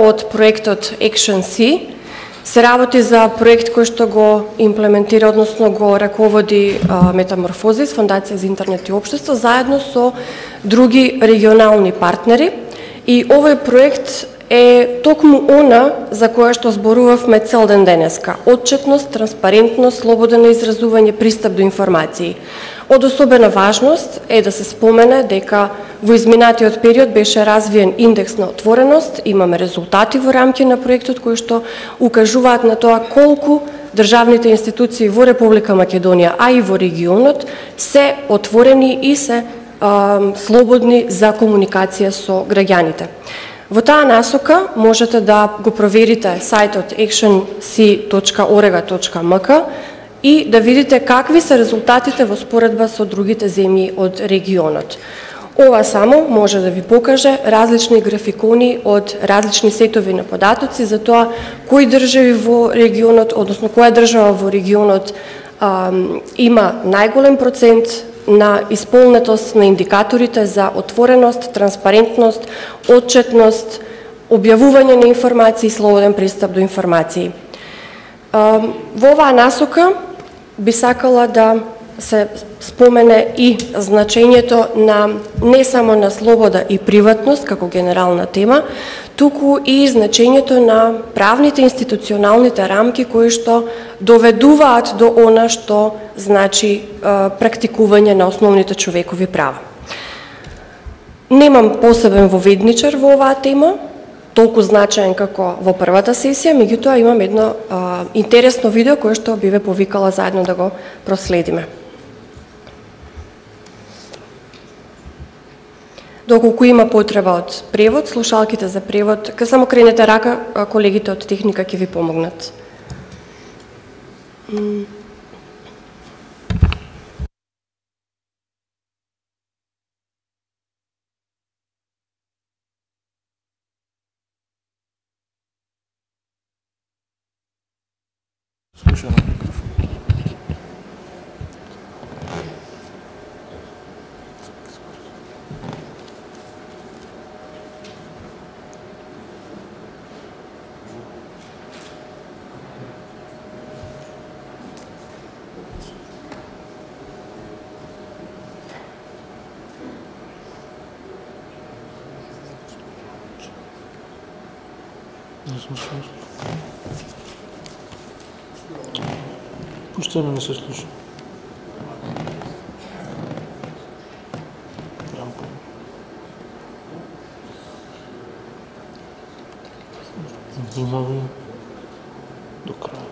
од проектот Action-C се работи за проект кој што го имплементира, односно го раководи Метаморфозис, Фондација за интернет и општество, заедно со други регионални партнери. И овој проект е токму она за која што зборувавме цел ден денеска. Отчетност, транспарентност, слободно изразување, пристап до информации. Од особена важност е да се спомене дека во изминатиот период беше развиен индекс на отвореност, имаме резултати во рамки на проектот кои што укажуваат на тоа колку државните институции во Република Македонија, а и во регионот, се отворени и се слободни за комуникација со граѓаните. Во таа насока можете да го проверите сајтот actionc.org.mk и да видите какви се резултатите во споредба со другите земји од регионот. Ова само може да ви покаже различни графикони од различни сетови на податоци за тоа кои држави во регионот, односно која држава во регионот има најголем процент на исполнетост на индикаторите за отвореност, транспарентност, отчетност, објавување на информации и слободен пристап до информации. Во оваа насока би сакала да се спомене и значењето на не само на слобода и приватност како генерална тема, туку и значењето на правните институционалните рамки кои што доведуваат до она што значи практикување на основните човекови права. Немам посебен воведничар во оваа тема, толку значаен како во првата сесија, меѓутоа имам едно интересно видео кое што би ве повикала заедно да го проследиме. Доколку има потреба од превод, слушалките за превод, само кренете рака, колегите од техника ќе ви помогнат. Пуште ме не се слуша. Внимавај до крај.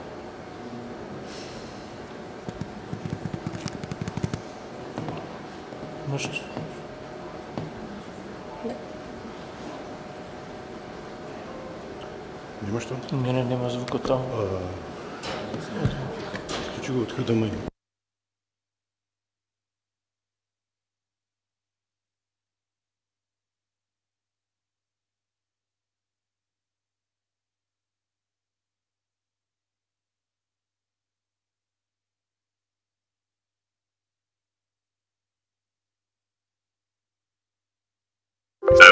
Имаш ли? Нема што? Не, нема звука таму. Исклучи го од HDMI.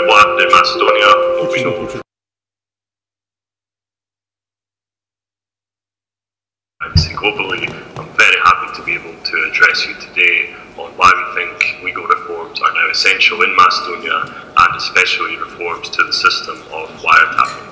What happened in Macedonia? Globally, I'm very happy to be able to address you today on why we think legal reforms are now essential in Macedonia, and especially reforms to the system of wiretapping.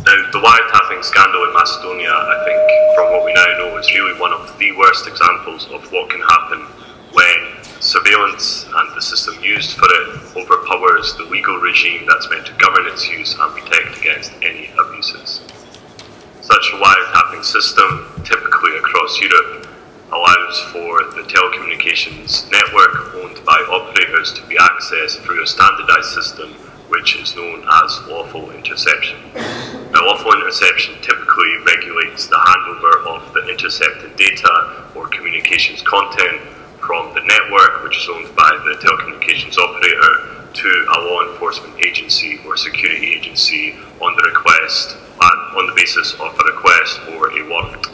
Now, the wiretapping scandal in Macedonia, I think, from what we now know, is really one of the worst examples of what can happen when surveillance and the system used for it overpowers the legal regime that's meant to govern its use and protect against any abuses. Such a wiretapping system, typically across Europe, allows for the telecommunications network owned by operators to be accessed through a standardised system which is known as lawful interception. Now, lawful interception typically regulates the handover of the intercepted data or communications content from the network, which is owned by the telecommunications operator, to a law enforcement agency or security agency on the basis of a request or a warrant.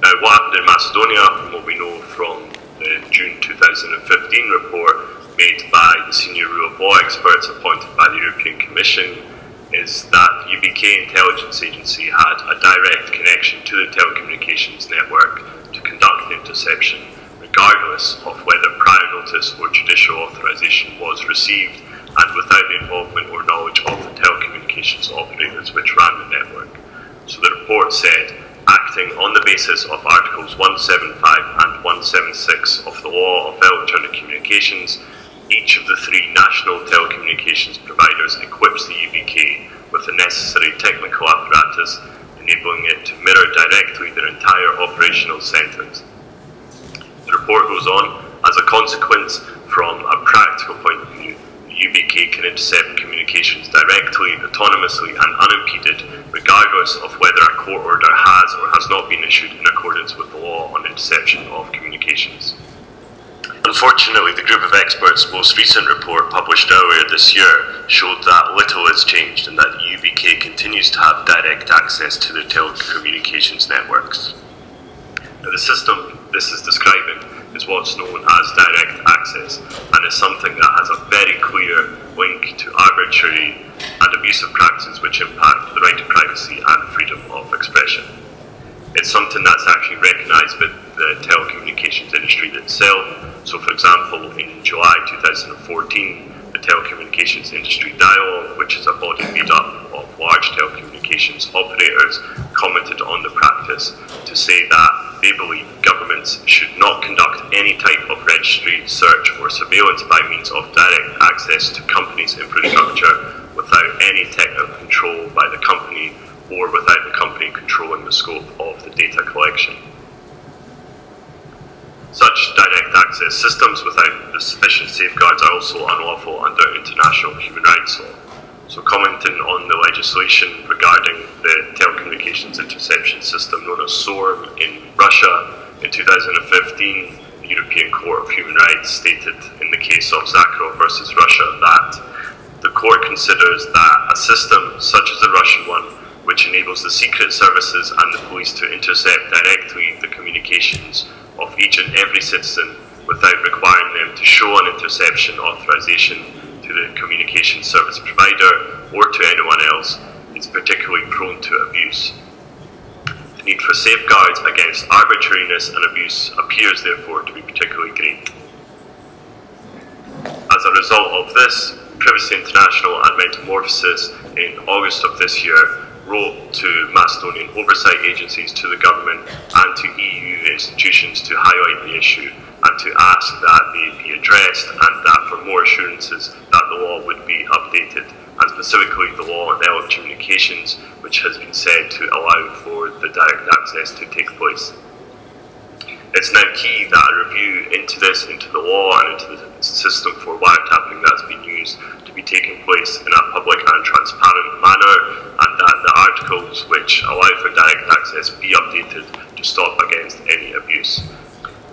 Now, what happened in Macedonia, from what we know from the June 2015 report made by the senior rule of law experts appointed by the European Commission, admission is that UBK Intelligence Agency had a direct connection to the telecommunications network to conduct the interception, regardless of whether prior notice or judicial authorization was received and without the involvement or knowledge of the telecommunications operators which ran the network. So the report said, acting on the basis of Articles 175 and 176 of the Law of Electronic Communications, each of the three national telecommunications providers equips the UBK with the necessary technical apparatus, enabling it to mirror directly their entire operational centres. The report goes on, as a consequence, from a practical point of view, the UBK can intercept communications directly, autonomously and unimpeded, regardless of whether a court order has or has not been issued in accordance with the law on interception of communications. Unfortunately, the group of experts' most recent report published earlier this year showed that little has changed and that the UBK continues to have direct access to their telecommunications networks. Now, the system this is describing is what's known as direct access and is something that has a very clear link to arbitrary and abusive practices which impact the right to privacy and freedom of expression. It's something that's actually recognised by the telecommunications industry itself. So, for example, in July 2014, the Telecommunications Industry Dialogue, which is a body made up of large telecommunications operators, commented on the practice to say that they believe governments should not conduct any type of registry, search or surveillance by means of direct access to companies' infrastructure without any technical control by the company or without the company controlling the scope of the data collection. Such direct access systems without the sufficient safeguards are also unlawful under international human rights law. So, commenting on the legislation regarding the telecommunications interception system known as SORM in Russia, in 2015, the European Court of Human Rights stated in the case of Zakharov versus Russia that the court considers that a system such as the Russian one, which enables the secret services and the police to intercept directly the communications of each and every citizen without requiring them to show an interception authorization to the communication service provider or to anyone else, is particularly prone to abuse. The need for safeguards against arbitrariness and abuse appears therefore to be particularly great. As a result of this, Privacy International and Metamorphosis in August of this year wrote to Macedonian oversight agencies, to the government and to EU institutions to highlight the issue and to ask that they be addressed and that for more assurances that the law would be updated, and specifically the law on telecommunications, which has been said to allow for the direct access to take place. It's now key that a review into this, into the law and into the system for wiretapping that's been used to be taking place in a public and transparent manner, and that the articles which allow for direct access be updated to stop against any abuse.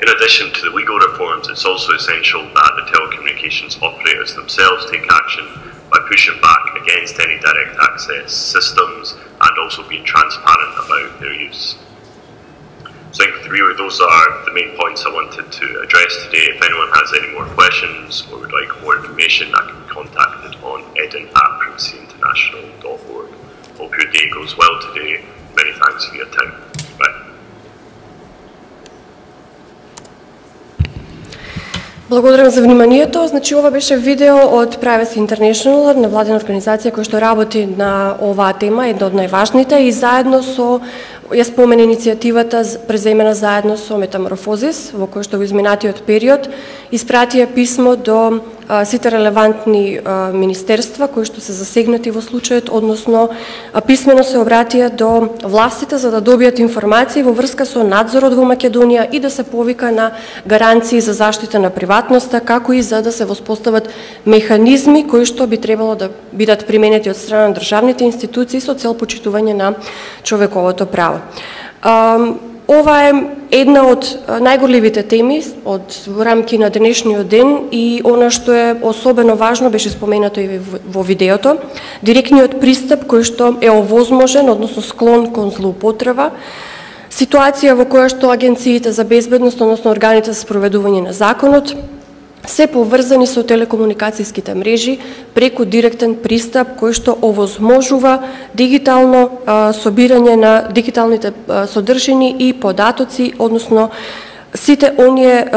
In addition to the legal reforms, it's also essential that the telecommunications operators themselves take action by pushing back against any direct access systems and also being transparent about their use. So I think really those are the main points I wanted to address today. If anyone has any more questions or would like more information, I can be contacted on eden@privacyinternational.org. Hope your day goes well today. Many thanks for your time. Bye. Благодарам за вниманието. Значи ова беше видео од Privacy International, невладена организација која што работи на оваа тема, една од најважните, и заедно со ја спомена иницијативата преземена заедно со Метаморфозис, во кој што во изминатиот период испратија писмо до сите релевантни министерства кои што се засегнати во случајот, односно писмено се обратија до властите за да добијат информации во врска со надзорот во Македонија и да се повика на гаранции за заштита на приватноста, како и за да се воспостават механизми кои што би требало да бидат применети од страна на државните институции со цел почитување на човековото право. Ова е една од најгорливите теми во рамки на денешниот ден и она што е особено важно беше споменато и во видеото, директниот пристап кој што е овозможен, односно склон кон злоупотреба, ситуација во која што агенциите за безбедност, односно органите за спроведување на законот, се поврзани со телекомуникацијските мрежи преку директен пристап кој што овозможува дигитално собирање на дигиталните содржини и податоци, односно сите оние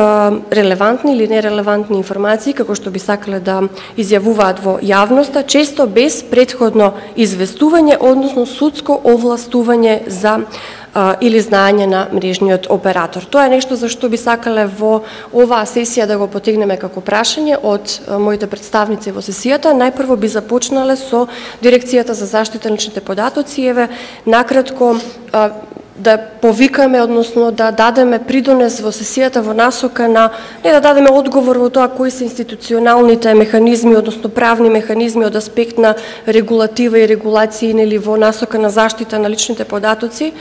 релевантни или нерелевантни информации како што би сакале да изјавуваат во јавноста, често без претходно известување, односно судско овластување за или знаење на мрежниот оператор. Тоа е нешто за што би сакале во оваа сесија да го потегнеме како прашање од моите представници во сесијата. Најпрво би започнале со Дирекцијата за заштита на личните податоци. Еве, накратко да повикаме, односно да дадеме придонес во сесијата во насока на, не да дадеме одговор во тоа кои се институционалните механизми, односно правни механизми од аспект на регулатива и регулации нели во насока на заштита на личните податоци,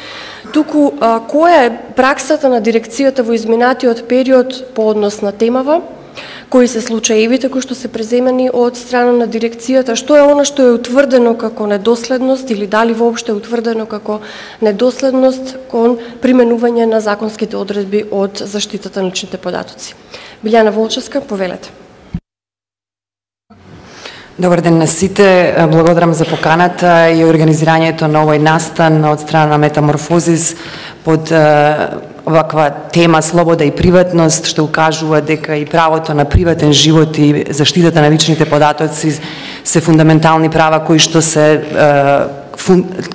туку која е праксата на дирекцијата во изминатиот период по однос на темава, кои се случаевите кои што се преземени од страна на дирекцијата, што е она што е утврдено како недоследност или дали воопшто е утврдено како недоследност кон применување на законските одредби од заштитата на личните податоци. Билјана Волчевска, повелете. Добар ден на сите, благодарам за поканата и организирањето на овој настан од страна на Метаморфозис под оваква тема слобода и приватност, што укажува дека и правото на приватен живот и заштитата на личните податоци се фундаментални права кои што се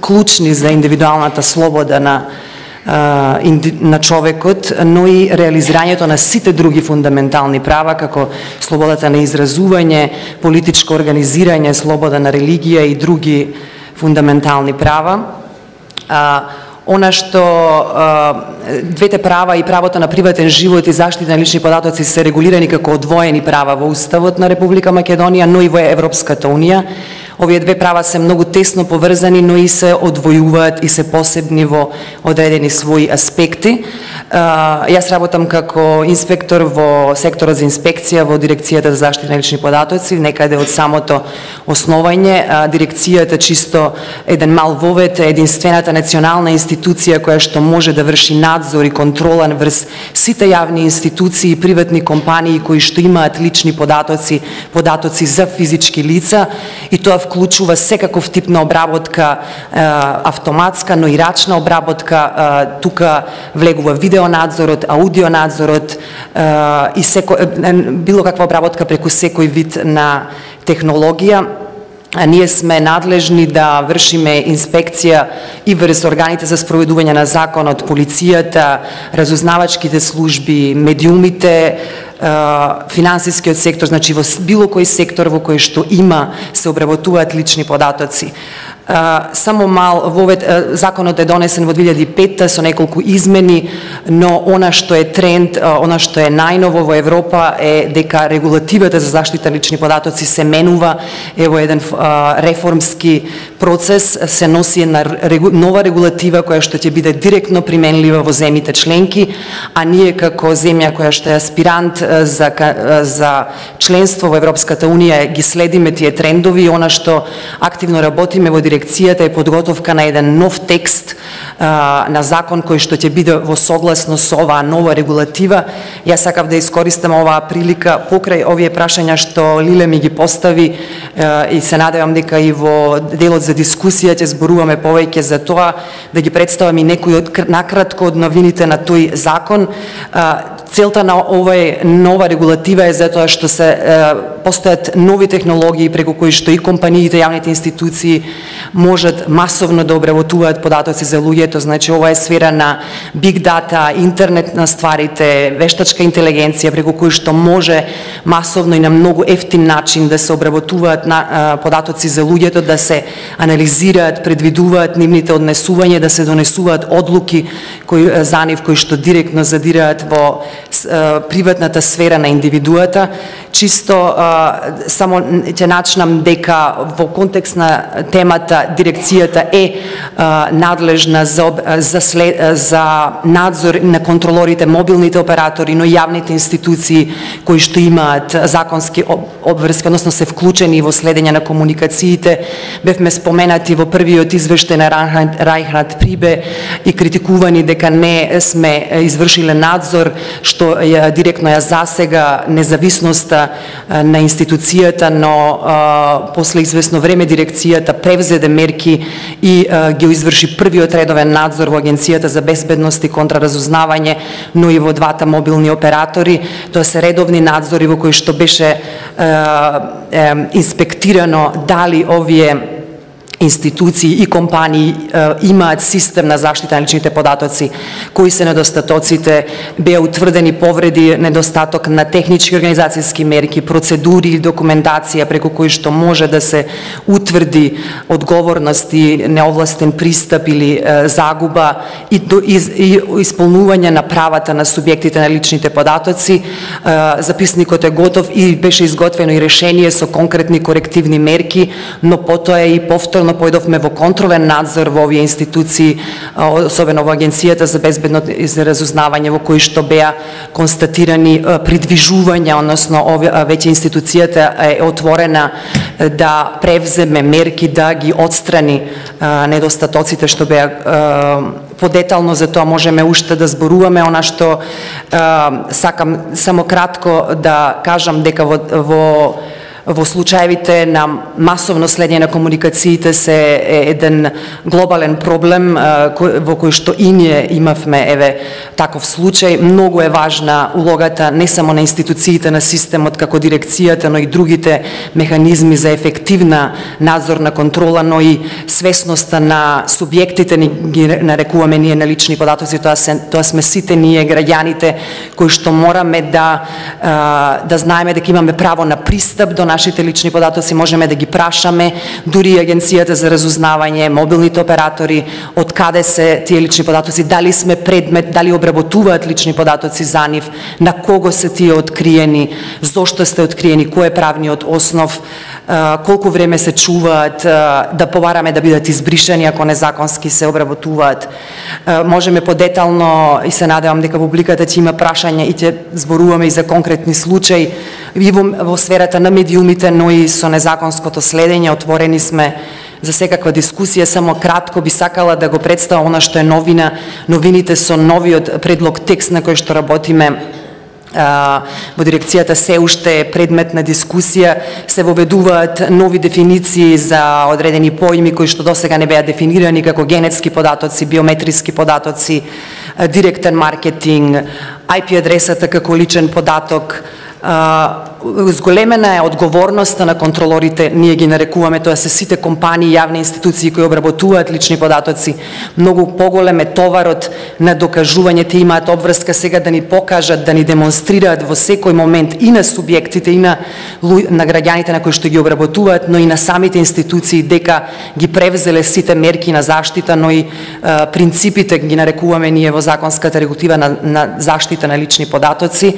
клучни за индивидуалната слобода на човекот, но и реализирањето на сите други фундаментални права, како слободата на изразување, политичко организирање, слобода на религија и други фундаментални права. Она што двете права, и правото на приватен живот и заштита на лични податоци, се регулирани како одвоени права во Уставот на Република Македонија, но и во Европската Унија. Овие две права се многу тесно поврзани, но и се одвојуваат и се посебни во одредени своји аспекти. Јас работам како инспектор во секторот за инспекција во Дирекцијата за заштита на лични податоци, некаде од самото основање. Дирекцијата чисто еден мал вовет, единствената национална институција која што може да врши надзор и контрола врз сите јавни институции и приватни компании кои што имаат лични податоци, податоци за физички лица, и тоа вклучува секаков тип на обработка, автоматска, но и рачна обработка. Тука влегува видеонадзорот, аудионадзорот и било каква обработка преку секој вид на технологија. Ние сме надлежни да вршиме инспекција и врз органите за спроведување на законот, полицијата, разузнавачките служби, медиумите, финансискиот сектор, значи во било кој сектор во кој што се обработуваат лични податоци. Само мал, законот е донесен во 2005 со неколку измени, но она што е тренд, она што е најново во Европа е дека регулативата за заштита лични податоци се менува. Ево еден реформски процес, се носи една нова регулатива која што ќе биде директно применлива во земјите членки, а ние како земја која што е аспирант за членство во Европската Унија ги следиме тие трендови. Она што активно работиме во дирекцијата е подготовка на еден нов текст на закон кој што ќе биде во согласно со оваа нова регулатива. Јас сакав да искористам оваа прилика покрај овие прашања што Лиле ми ги постави и се надевам дека и во делот за дискусија ќе зборуваме повеќе за тоа, да ги представам и некои накратко од новините на тој закон. Целта на оваа нова регулатива е затоа што се постојат нови технологии преку кои што и компаниите, јавните институции можат масовно да обработуваат податоци за луѓето. Значи ова е сфера на биг дата, интернет на стварите, вештачка интелигенција, преку кои што може масовно и на многу ефтин начин да се обработуваат податоци за луѓето, да се анализираат, предвидуваат нивните однесувања, да се донесуваат одлуки за нив кои што директно задираат во приватната сфера на индивидуата. Чисто само ќе начнам дека во контекст на темата да дирекцијата е надлежна за надзор на контролорите, мобилните оператори, но и јавните институции кои што имаат законски обврски, односно се вклучени во следење на комуникациите. Бевме споменати во првиот извештај на Райнхард Прибе и критикувани дека не сме извршиле надзор, што директно ја засега независноста на институцијата, но после известно време дирекцијата превзеде мерки и ги изврши првиот редовен надзор во Агенцијата за безбедност и контраразузнавање, но и во двата мобилни оператори. Тоа се редовни надзори во кои што беше инспектирано дали овие институции и компании имаат систем на заштита на личните податоци, кои се недостатоците, беа утврдени повреди, недостаток на технички организацијски мерки, процедури и документација преку кои што може да се утврди одговорност и неовластен пристап или загуба и исполнување на правата на субјектите на личните податоци. Записникот е готов и беше изготвено и решение со конкретни корективни мерки, но потоа и повторно појдовме во контролен надзор во овие институции, особено во Агенцијата за безбедност и за разузнавање, во кои што беа констатирани придвижувања, односно веќе институцијата е отворена да превземе мерки да ги отстрани недостатоците што беа подетално. За тоа можеме уште да зборуваме. Она што сакам само кратко да кажам дека во случаевите на масовно следење на комуникациите се еден глобален проблем во кој што и ние имавме таков случај. Многу е важна улогата не само на институциите на системот како дирекцијата, но и другите механизми за ефективна надзорна контрола, но и свесноста на субјектите, ги нарекуваме ние на лични податоци. Тоа сме сите ние граѓаните кои што мораме да знаеме дека имаме право на пристап до нашите лични податоци, можеме да ги прашаме, дури Агенцијата за разузнавање, мобилните оператори, од каде се тие лични податоци, дали сме предмет, дали обработуваат лични податоци за нив, на кого се тие откриени, зошто сте откриени, кој е правниот основ, колку време се чуваат, да побараме да бидат избришани ако незаконски се обработуваат. Можеме подетално и се надевам дека публиката ќе има прашања и ќе зборуваме и за конкретни случаи и во сферата на медиумите, но и со незаконското следење. Отворени сме за секаква дискусија. Само кратко би сакала да го представам она што е новина. Новините со новиот предлог текст на кој што работиме во дирекцијата се уште е предмет на дискусија. Се воведуваат нови дефиниции за одредени поими кои што досега не беа дефинирани, како генетски податоци, биометриски податоци, директен маркетинг, IP адресата како личен податок. Зголемена е одговорноста на контролорите, ние ги нарекуваме, тоа се сите компании, јавни институции кои обработуваат лични податоци. Многу поголем е товарот на докажување, те имаат обврска сега да ни покажат, да ни демонстрираат во секој момент и на субјектите и на граѓаните на кои што ги обработуваат, но и на самите институции дека ги превзеле сите мерки на заштита, но и принципите ги нарекуваме ние во законската регулатива на заштита на лични податоци.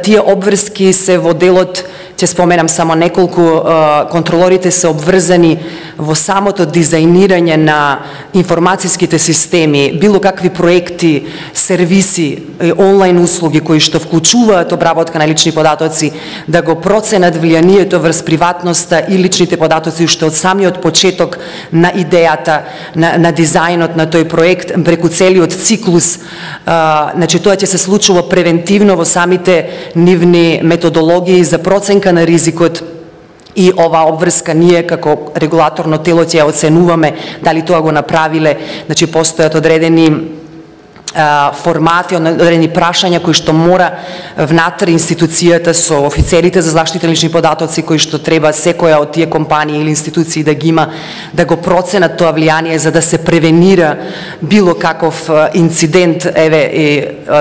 Тие обврски се во делот, ќе споменам само неколку, контролорите се обврзани во самото дизајнирање на информацијските системи, било какви проекти, сервиси, онлайн услуги кои што вклучуваат обработка на лични податоци, да го проценат влијанието врз приватноста и личните податоци уште од самиот почеток на идејата, на дизајнот на тој проект, преку целиот циклус. Значи, тоа ќе се случува превентивно во самите нивни методологии за проценка на ризикот, и оваа обврска ние како регулаторно тело ќе ја оценуваме дали тоа го направиле. Значи, постојат одредени формати, одредени прашања кои што мора внатре институцијата со офицерите за заштита на лични податоци кои што треба секоја од тие компании или институции да ги има, да го проценат тоа влијание за да се превенира било каков инцидент,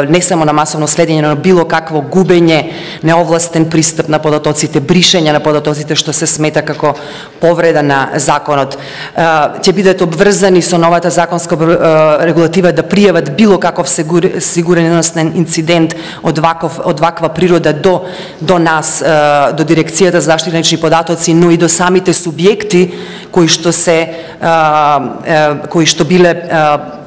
не само на масовно следење, но било какво губење, неовластен пристап на податоците, бришење на податоците што се смета како повреда на законот. Ќе бидат обврзани со новата законска регулатива да пријават било каков сигурносен инцидент од ваква природа до нас, до Дирекцијата за заштита на лични податоци, но и до самите субјекти кои што биле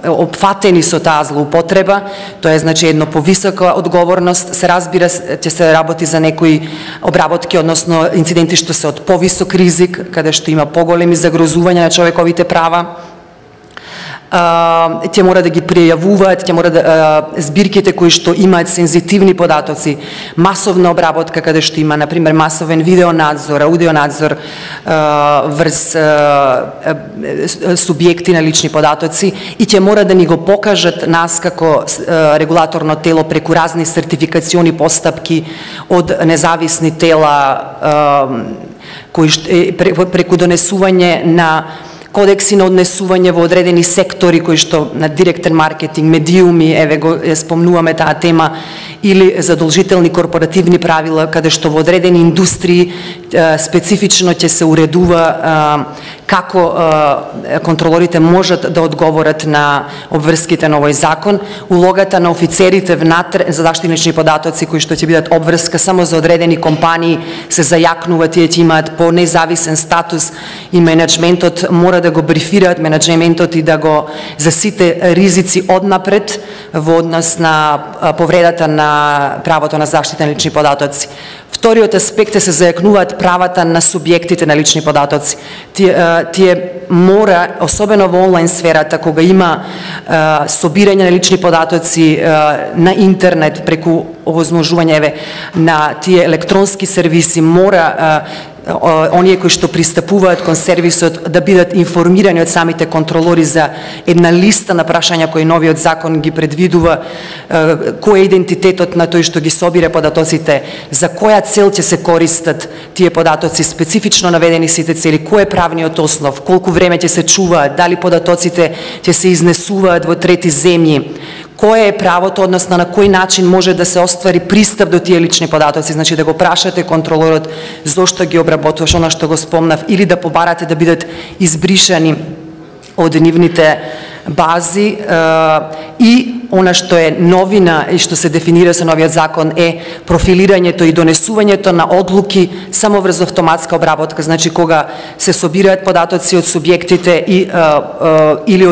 опфатени со таа злоупотреба. Тоа е значи едно повисока одговорност, се разбира ќе се работи за некои обработки, односно инциденти што се од повисок ризик, каде што има поголеми загрозувања на човековите права. Ќе мора да ги пријавуваат, ќе мора да збирките кои што имаат сензитивни податоци, масовна обработка каде што има на пример масовен видеонадзор, аудионадзор врз субјекти на лични податоци и ќе мора да ни го покажат нас како регулаторно тело преку разни сертификациони постапки од независни тела кои преку донесување на кодекси на однесување во одредени сектори кои што на директен маркетинг, медиуми, еве го спомнуваме таа тема, или задолжителни корпоративни правила каде што во одредени индустрии специфично ќе се уредува како контролорите можат да одговорат на обврските на овој закон, улогата на офицерите внатре за заштита на лични податоци кои што ќе бидат обврска само за одредени компании се зајакнува, тие ќе имаат по независен статус и менеджментот мора да го брифираат менеджментот и да го за сите ризици однапред во однос на повредата на правото на заштита на лични податоци. Вториот аспект е се зајакнуваат правата на субјектите на лични податоци. Тие мора, особено во онлайн сферата, кога има собирање на лични податоци на интернет преку овозможување на тие електронски сервиси, мора оние кои што пристапуваат кон сервисот да бидат информирани од самите контролори за една листа на прашања кои новиот закон ги предвидува, кој е идентитетот на тој што ги собира податоците, за која цел ќе се користат тие податоци, специфично наведени сите цели, кој е правниот основ, колку време ќе се чуваат, дали податоците ќе се изнесуваат во трети земји, кое е правото, односно на кој начин може да се оствари пристап до тие лични податоци, значи да го прашате контролорот зошто ги обработуваш, она што го спомнав, или да побарате да бидат избришани од нивните бази. И она што е новина и што се дефинира со новиот закон е профилирањето и донесувањето на одлуки само врз автоматска обработка, значи кога се собираат податоци од субјектите или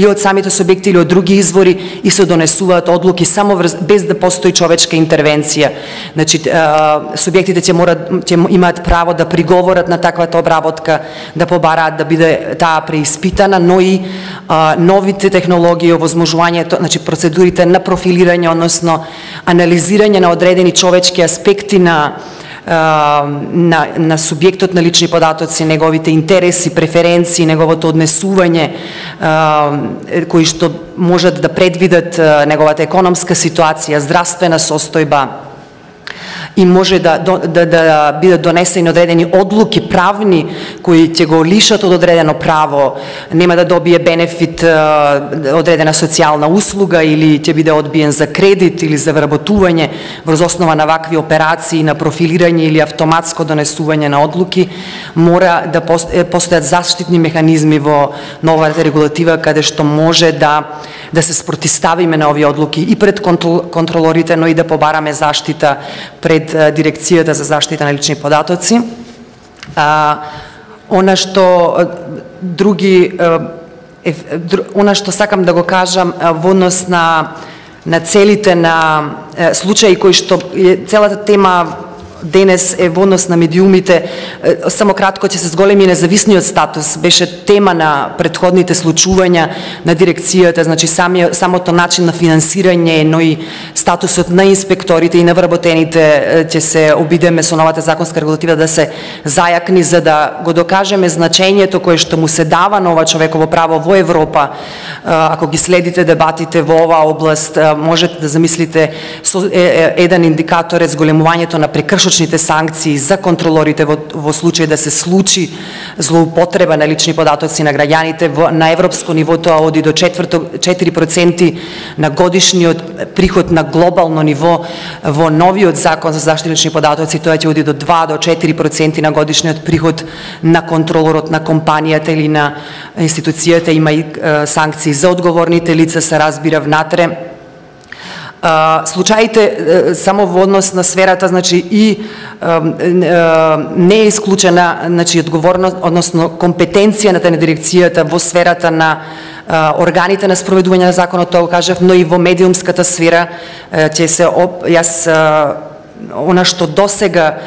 од самите субјекти или од други извори и се донесуваат одлуки само без да постои човечка интервенција. Значи субјектите ќе имаат право да приговорат на таквата обработка, да побараат да биде таа преиспитана, но и новите технологии, овозможувањето, значи процедурите на профилирање, односно анализирање на одредени човечки аспекти на субјектот на лични податоци, неговите интереси, преференции, неговото однесување, кои што можат да предвидат неговата економска ситуација, здравствена состојба, и може да бидат донесени одредени одлуки правни кои ќе го лишат од одредено право, нема да добие бенефит одредена социјална услуга или ќе биде одбиен за кредит или за вработување врз основа на вакви операции на профилирање или автоматско донесување на одлуки, мора да постојат заштитни механизми во новата регулатива каде што може да се спротиставиме на овие одлуки и пред контролорите, но и да побараме заштита пред Дирекцијата за заштита на лични податоци. Она што сакам да го кажам во однос на целите на случаи кои што целата тема денес е во однос на медиумите, само кратко ќе се зголеми независниот статус, беше тема на претходните случувања на дирекцијата, значи самото начин на финансирање, но и статусот на инспекторите и на вработените ќе се обидеме со новата законска регулатива да се зајакни за да го докажеме значењето кое што му се дава на ова човеково право во Европа. Ако ги следите дебатите во оваа област, можете да замислите еден индикатор е зголемувањето на прекршочните санкции за контролорите во случај да се случи злоупотреба на лични податоци на граѓаните. На европско ниво тоа оди до 4% на годишниот приход на глобално ниво. Во новиот закон за заштита на лични податоци тоа ќе оди до 2 до 4% на годишниот приход на контролорот на компанијата или на институцијата. Има и санкции за одговорните лица, се разбира внатре. Случаите само во однос на сферата, значи и не е исклучена, значи одговорност, односно компетенцијата на дирекцијата во сферата на органите на спроведување на законот, тоа го кажав, но и во медиумската сфера ќе се она што досега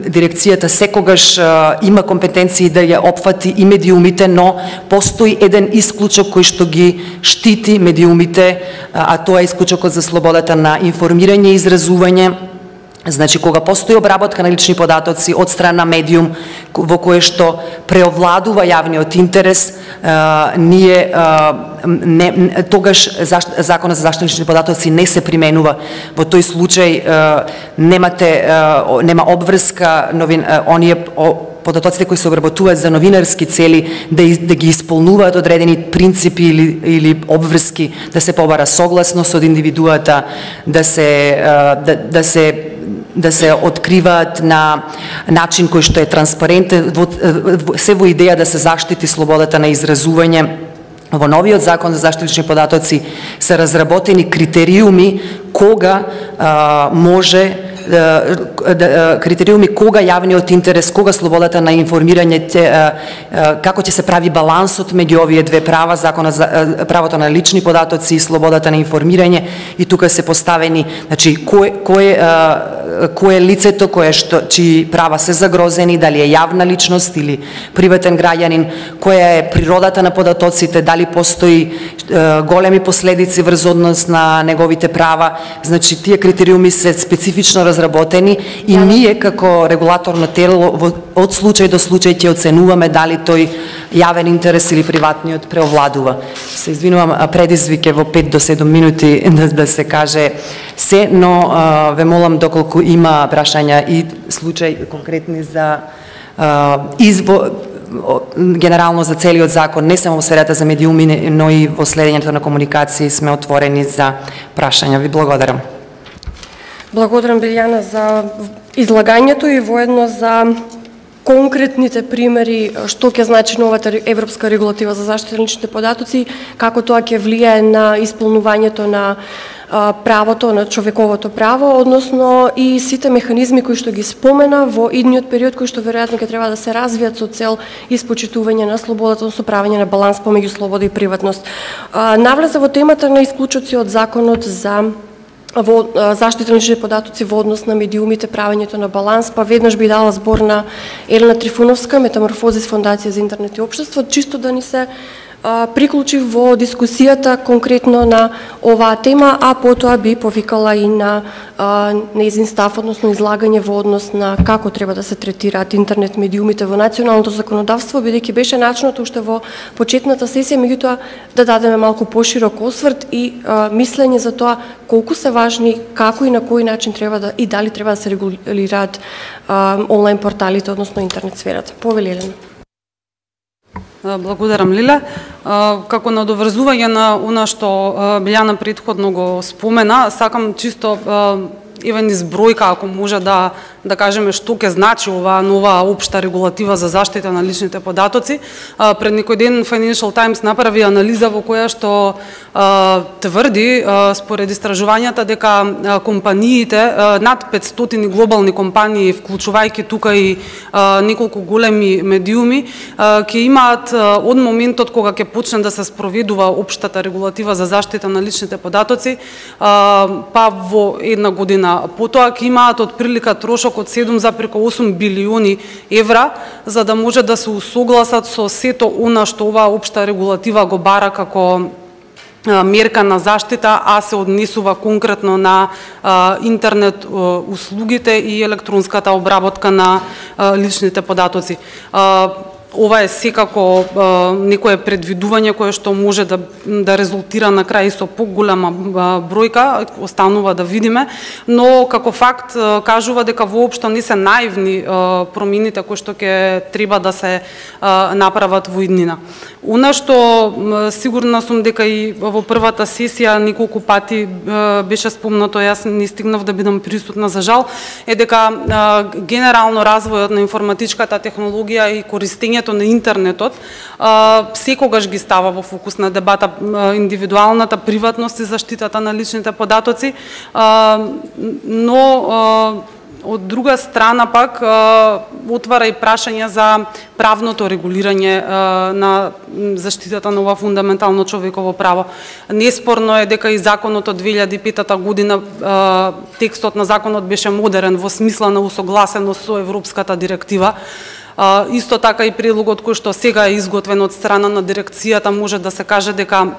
дирекцијата секогаш има компетенции да ја опфати и медиумите, но постои еден исклучок кој што ги штити медиумите, а тоа е исклучокот за слободата на информирање и изразување. Значи, кога постои обработка на лични податоци од страна медиум во кое што преовладува јавниот интерес, тогаш Законот за заштита на лични податоци не се применува. Во тој случај нема обврска оние податоците кои се обработуваат за новинарски цели да ги исполнуваат одредени принципи или обврски, да се побара согласност од индивидуата, да се откриваат на начин кој што е транспарентен, се во идеја да се заштити слободата на изразување. Во новиот Закон за заштита на лични податоци се разработени критериуми кога кога јавниот интерес, кога слободата на информирање, како ќе се прави балансот меѓу овие две права, правото на лични податоци и слободата на информирање, и тука се поставени, значи, кој е лицето чии права се загрозени, дали е јавна личност или приватен граѓанин, која е природата на податоците, дали постои големи последици врз однос на неговите права. Значи, тие критериуми се специфично разработени и ние како регулаторно тело од случај до случај ќе оценуваме дали тој јавен интерес или приватниот преовладува. Се извинувам, предизвик е во 5 до 7 минути да се каже се, но ве молам доколку има прашања и случај конкретни за генерално за целиот закон, не само во сферата за медиуми, но и во следењето на комуникации сме отворени за прашања. Ви благодарам. Благодарам, Билјана, за излагањето и воедно за конкретните примери што ќе значи новата европска регулатива за заштита на личните податоци, како тоа ќе влијае на исполнувањето на правото, на човековото право, односно и сите механизми кои што ги спомена во идниот период, кои што веројатно ќе треба да се развијат со цел испочитување на слободата, односно правење на баланс помеѓу слобода и приватност. Навлезе во темата на исклучоци од законот за заштита на лични податоци во однос на медиумите, правењето на баланс, па веднаш би дала збор на Елена Трифуновска, Метаморфозис фондација за интернет и општество, чисто да ни се приклучи во дискусијата конкретно на оваа тема, а потоа би повикала и на нејзин став, односно излагање во однос на како треба да се третираат интернет медиумите во националното законодавство, бидејќи беше начинот уште во почетната сесија, меѓутоа да дадеме малку поширок осврт и мислење за тоа колку се важни, како и на кој начин треба да и дали треба да се регулираат онлайн порталите, односно интернет сферата. Повели Елена. Благодарам, Лиле. Како надоврзување на она што Билјана претходно го спомена, сакам чисто евен избројка, ако може да кажеме што ќе значи оваа нова општа регулатива за заштита на личните податоци. Пред некој ден Financial Times направи анализа во која што тврди, според истражувањата, дека компаниите, над 500 глобални компании, вклучувајќи тука и неколку големи медиуми, ќе имаат од моментот кога ќе почне да се спроведува општата регулатива за заштита на личните податоци, па во една година потоа ќе имаат отприлика трошок од 7,8 билиони евра, за да може да се усогласат со сето она што оваа општа регулатива го бара како мерка на заштита, а се однесува конкретно на интернет услугите и електронската обработка на личните податоци. Ова е секако некое предвидување кое што може да резултира на крај со поголема бројка, останува да видиме, но како факт кажува дека воопшто не се наивни промените кои што ќе треба да се направат во иднина. Она што сигурна сум дека и во првата сесија неколку пати беше спомнато, јас не стигнав да бидам присутна за жал, е дека генерално развојот на информатичката технологија и користењето кoristeњето на интернетот секогаш ги става во фокус на дебата индивидуалната приватност и заштитата на личните податоци, но од друга страна пак отвара и прашање за правното регулирање на заштитата на ова фундаментално човеково право. Неспорно е дека и законот од 2005 година, текстот на законот беше модерен во смисла на усогласеност со Европската директива. Исто така и предлогот кој што сега е изготвен од страна на дирекцијата може да се каже дека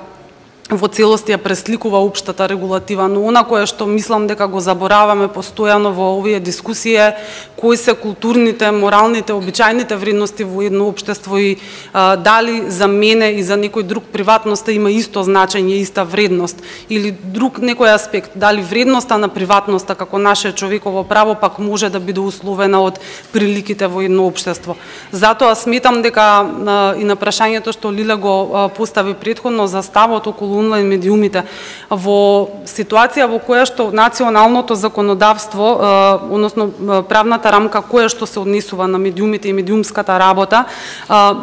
во целости ја пресликува општата регулатива, но она кое што мислам дека го забораваме постојано во овие дискусии е кои се културните, моралните, обичајните вредности во едно општество и дали за мене и за некој друг приватноста има исто значење, иста вредност или друг некој аспект, дали вредноста на приватноста како наше човеково право пак може да биде условена од приликите во едно општество. Затоа сметам дека и на прашањето што Лиле го постави претходно за ставот околу онлайн медиумите, во ситуација во која што националното законодавство, односно правната рамка која што се однесува на медиумите и медиумската работа,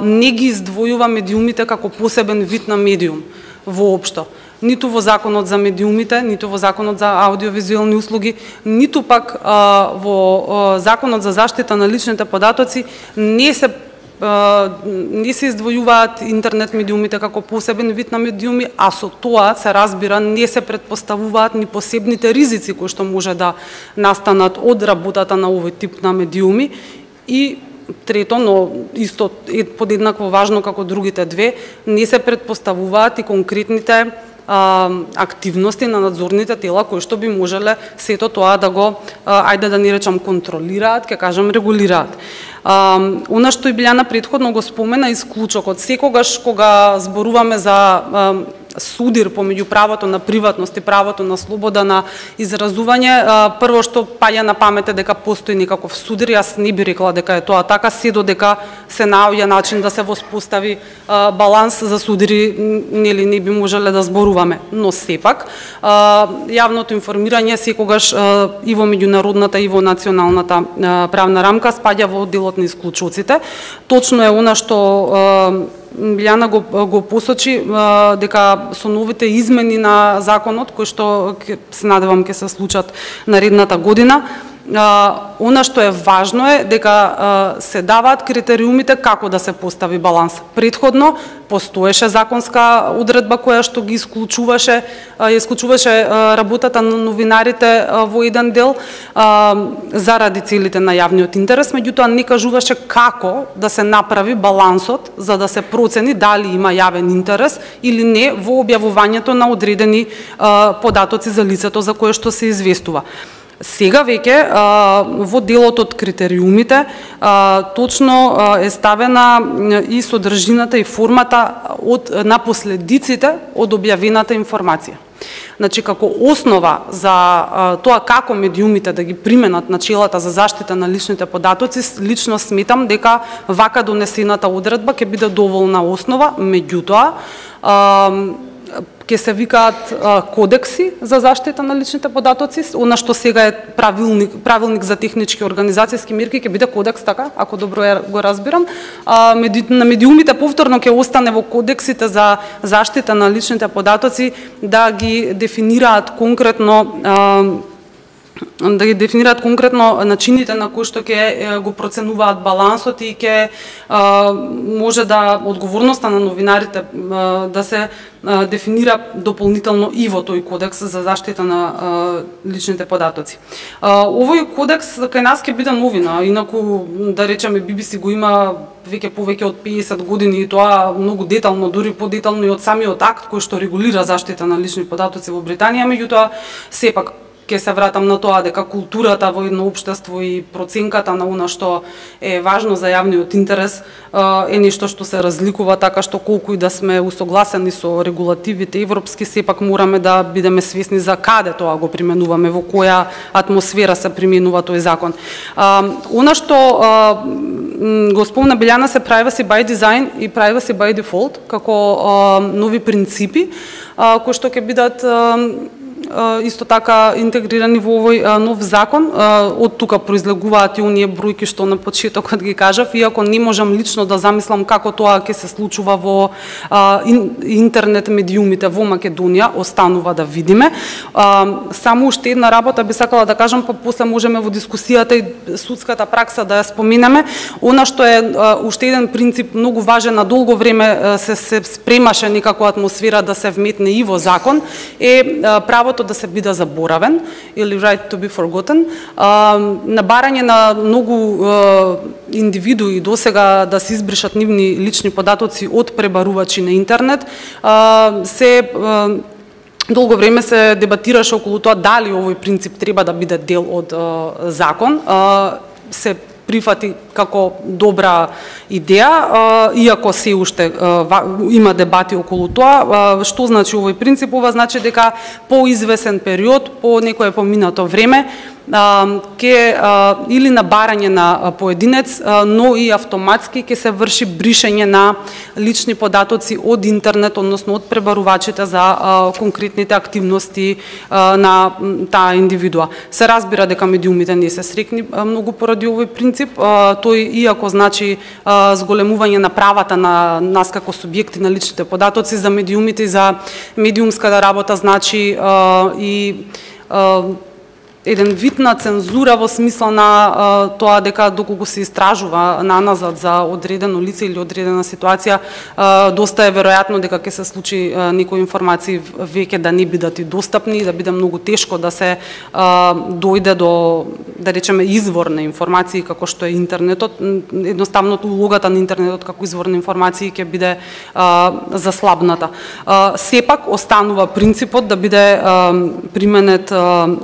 не ги издвојува медиумите како посебен вид на медиум воопшто. Ниту во законот за медиумите, ниту во законот за аудиовизуелни услуги, ниту пак во законот за заштита на личните податоци не се издвојуваат интернет медиумите како посебен вид на медиуми, а со тоа се разбира не се предпоставуваат ни посебните ризици кои што може да настанат од работата на овој тип на медиуми. И трето, но исто подеднакво важно како другите две, не се предпоставуваат и конкретните активности на надзорните тела кои што би можеле сето тоа да го, ајде да не речам контролираат, ќе кажам регулираат. Она што и Билјана претходно го спомена, исклучокот. Секогаш кога зборуваме за судир помеѓу правото на приватност и правото на слобода на изразување, прво што паѓа на памет е дека постои некаков судир. Јас не би рекла дека е тоа така, се додека се наоѓа начин да се воспостави баланс за судири, нели не би можеле да зборуваме. Но сепак, јавното информирање секогаш и во меѓународната и во националната правна рамка спаѓа во делот на исклучоците. Точно е она што Билјана го посочи, дека со новите измени на законот, кои што се надевам ќе се случат наредната година, она што е важно е дека се даваат критериумите како да се постави баланс. Предходно постоеше законска одредба која што ги исклучуваше работата на новинарите во еден дел заради целите на јавниот интерес, меѓутоа не кажуваше како да се направи балансот за да се процени дали има јавен интерес или не во објавувањето на одредени податоци за лицето за кое што се известува. Сега веќе во делот од критериумите точно е ставена и содржината и формата на последиците од објавената информација. Значи, како основа за тоа како медиумите да ги применат начелата за заштита на личните податоци, лично сметам дека вака донесената одредба ќе биде доволна основа, меѓутоа ќе се викаат кодекси за заштита на личните податоци, она што сега е правилник за технички организацијски мерки, ќе биде кодекс, така, ако добро го разбирам. На медиумите повторно ќе остане во кодексите за заштита на личните податоци да ги дефинираат конкретно начините на кои што ќе го проценуваат балансот и ќе може да одговорноста на новинарите да се дефинира дополнително и во тој кодекс за заштита на личните податоци. Овој кодекс кај нас ќе биде новина, инаку да речеме BBC го има веќе повеќе од 50 години и тоа многу детално, дури подетално и од самиот акт кој што регулира заштита на лични податоци во Британија, меѓутоа сепак ќе се вратам на тоа дека културата во едно општество и проценката на она што е важно за јавниот интерес е нешто што се разликува, така што колку и да сме усогласени со регулативите европски, сепак мораме да бидеме свесни за каде тоа го применуваме, во која атмосфера се применува тој закон. Она што го спомна Билјана се privacy by design и privacy by default како нови принципи кои што ќе бидат исто така интегрирани во овој нов закон. Од тука произлегуваат и оние бројки што на почетокот ги кажав, иако не можам лично да замислам како тоа ќе се случува во интернет медиумите во Македонија, останува да видиме. Само уште една работа би сакала да кажам, па после можеме во дискусијата и судската пракса да ја споменеме. Она што е уште еден принцип многу важен, на долго време се спремаше некако атмосфера да се вметне и во закон, е правото да се биде заборавен, или right to be forgotten. На барање на многу индивидуи досега да се избришат нивни лични податоци од пребарувачи на интернет, долго време се дебатираше околу тоа дали овој принцип треба да биде дел од закон. Се прифати како добра идеја, иако се уште има дебати околу тоа. Што значи овој принцип? Ова значи дека по извесен период, по некое поминато време, или на барање на поединец, но и автоматски ќе се врши бришење на лични податоци од интернет, односно од пребарувачите за конкретните активности на таа индивидуа. Се разбира дека медиумите не се срекни многу поради овој принцип. Тој, иако значи зголемување на правата на нас како субјекти на личните податоци, за медиумите и за медиумската работа значи и еден вид на цензура во смисла на тоа дека доколку се истражува наназад за одредено лице или одредена ситуација, доста е веројатно дека ќе се случи некои информации веќе да не бидат и достапни, да биде многу тешко да се дојде до, да речеме, извор на информации како што е интернетот. Едноставно улогата на интернетот како извор на информации ќе биде заслабната. Сепак останува принципот да биде применет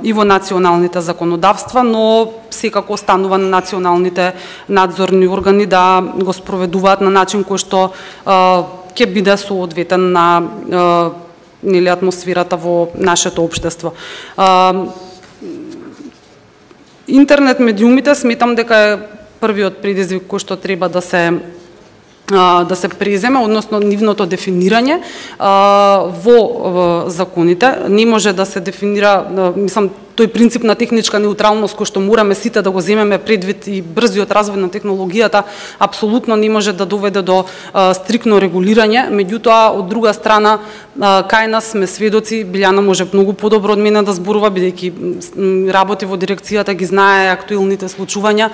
и во националните законодавства, но секако останува на националните надзорни органи да го спроведуваат на начин кој што ќе биде соодветен на атмосферата во нашето општество. Интернет медиумите сметам дека е првиот предизвик кој што треба да се преземе, односно нивното дефинирање во законите. Не може да се дефинира, мислам, тој принцип на техничка неутралност кој што мораме сите да го земеме предвид и брзиот развој на технологијата, апсолутно не може да доведе до стрикно регулирање. Меѓутоа, од друга страна, кај нас сме сведоци, Билјана може многу подобро од мене да зборува, бидејќи работи во дирекцијата, ги знае актуелните случувања,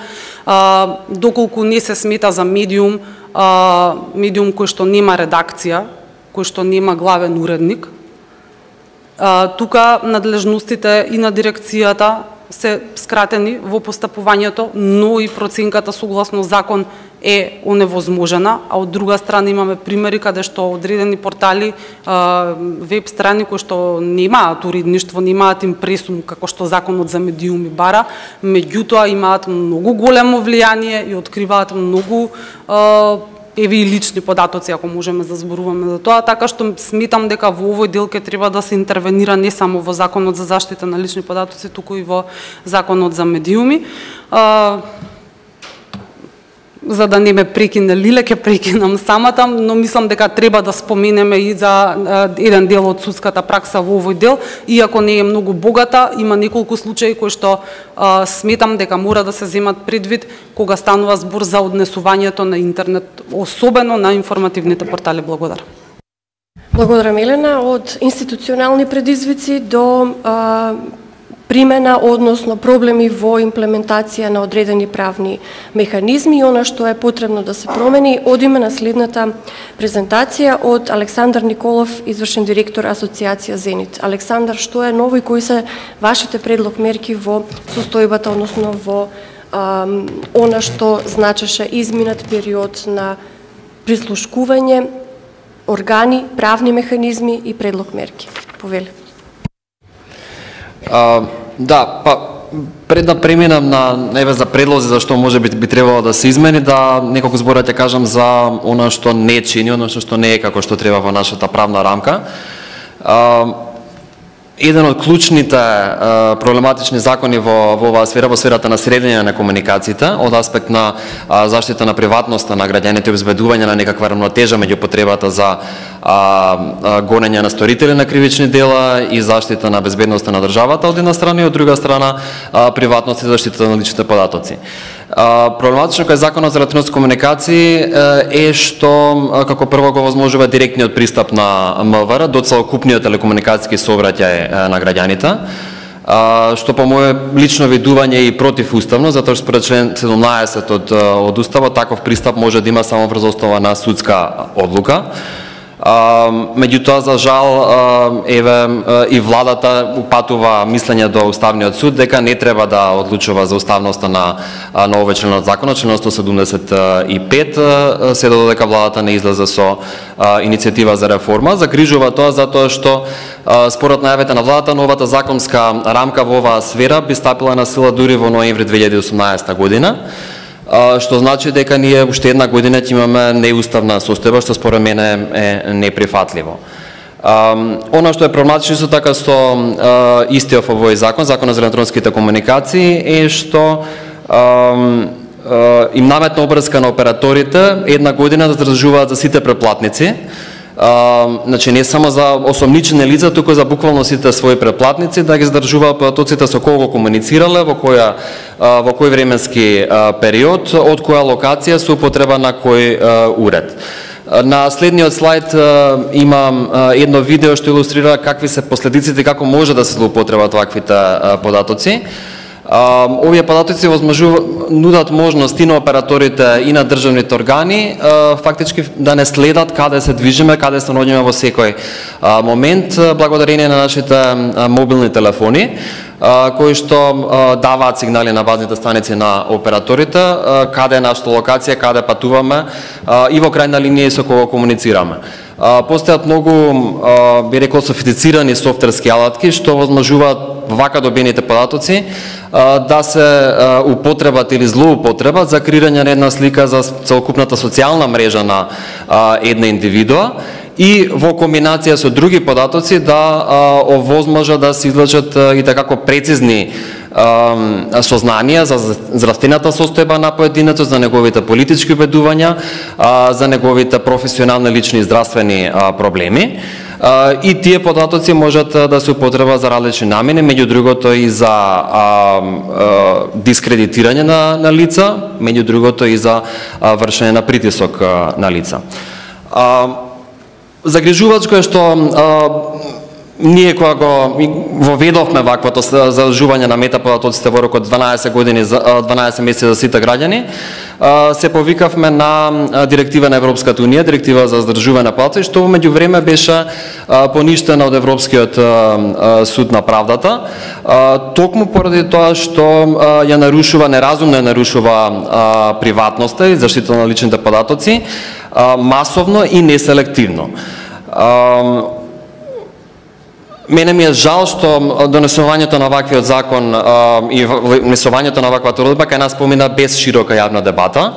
доколку не се смета за медиум кој што нема редакција, кој што нема главен уредник. Тука надлежностите и на дирекцијата се скратени во постапувањето, но и проценката согласно закон е оневозможена, а од друга страна имаме примери каде што одредени портали, веб страни кои што немаат уредништво, немаат импресум како што законот за медиуми бара, меѓутоа имаат многу големо влијание и откриваат многу еви и лични податоци, ако можеме да зборуваме за тоа, така што сметам дека во овој дел ќе треба да се интервенира не само во Законот за заштита на лични податоци, туку и во Законот за медиуми. За да не ме прекине Лиле, ќе прекинам самата, но мислам дека треба да споменеме и за еден дел од судската пракса во овој дел, иако не е многу богата, има неколку случаи кои што сметам дека мора да се земат предвид кога станува збор за однесувањето на интернет, особено на информативните портали. Благодарам. Благодарам, Елена. Од институционални предизвици до примена, односно проблеми во имплементација на одредени правни механизми и она што е потребно да се промени, одиме на следната презентација од Александар Николов, извршен директор Асоциација Зенит. Александар, што е ново и кои се вашите предлог мерки во состојбата, односно во она што значеше изминат период на прислушкување, органи, правни механизми и предлог мерки? Повели. Да, па пред да преминам на за предлози за што може би требало да се измени, да неколку збора ќе кажам за она што не чини, она што не е како што треба во нашата правна рамка. еден од клучните проблематични закони во оваа сфера, во сферата на средење на комуникациите, од аспект на заштита на приватноста на граѓаните и обезбедување на некаква рамнотежа меѓу потребата за гонење на сторители на кривични дела и заштита на безбедноста на државата од една страна и од друга страна приватност и заштита на личните податоци. Проблематично кај Законот за електронски комуникации е што како прво го возможува директниот пристап на МВР до целокупниот телекомуникацијски сообраќај на граѓаните, што по мое лично видување и противуставно, затоа што според член 17 од Уставот таков пристап може да има само врз основа на судска одлука. Меѓутоа, за жал, и владата упатува мислење до Уставниот суд дека не треба да одлучува за уставноста на овој член од законот, член 175, се додека владата не излезе со иницијатива за реформа. Загрижува тоа затоа што според најавите на владата, новата законска рамка во оваа сфера би стапила на сила дури во ноември 2018 година, што значи дека ние уште една година ќе имаме неуставна состојба, што според мене е неприфатливо. Она што е проблематично исто така со истиот овој закон, Законот за електронските комуникации, е што им наметна обврска на операторите една година да задржуваат за сите преплатници. Значи не само за осомничени лица, туку за буквално сите своји преплатници да ги задржуваат податоците со кого комуницирале, во кој временски период, од која локација, со употреба на кој уред. На следниот слайд имам едно видео што илустрира какви се последиците и како може да се злоупотребат ваквите податоци. Овие податоци нудат можност и на операторите и на државните органи фактички да не следат каде се движиме, каде се наоѓаме во секој момент, благодарение на нашите мобилни телефони, кои што даваат сигнали на базните станици на операторите, каде е нашата локација, каде патуваме и во крајна линија со кого комуницираме. Постојат многу, би рекол, софистицирани софтверски алатки што возможуваат вака добените податоци да се употребат или злоупотребат за креирање на една слика за целокупната социјална мрежа на една индивидуа и во комбинација со други податоци да овозможат да се извлечат и такако прецизни сознанија за здравствената состојба на поединецот, за неговите политички убедувања, за неговите професионални, лични и здравствени проблеми. И тие податоци можат да се употребат за различни намени, меѓу другото и за дискредитирање на лица, меѓу другото и за вршење на притисок на лица. Загрижувачко е што ние кога го воведовме ваквото задолжување на метаподатоците во рок од 12 години, 12 месеци за сите граѓани, се повикавме на директива на Европската унија, директива за задржување на податоци, што во меѓувреме беше поништена од Европскиот суд на правдата, токму поради тоа што ја нарушува, неразумно ја нарушува приватноста и заштита на личните податоци, масовно и неселективно. Мене ми е жал што донесувањето на ваквиот закон и внесувањето на ваквата уредба кај нас помина без широка јавна дебата.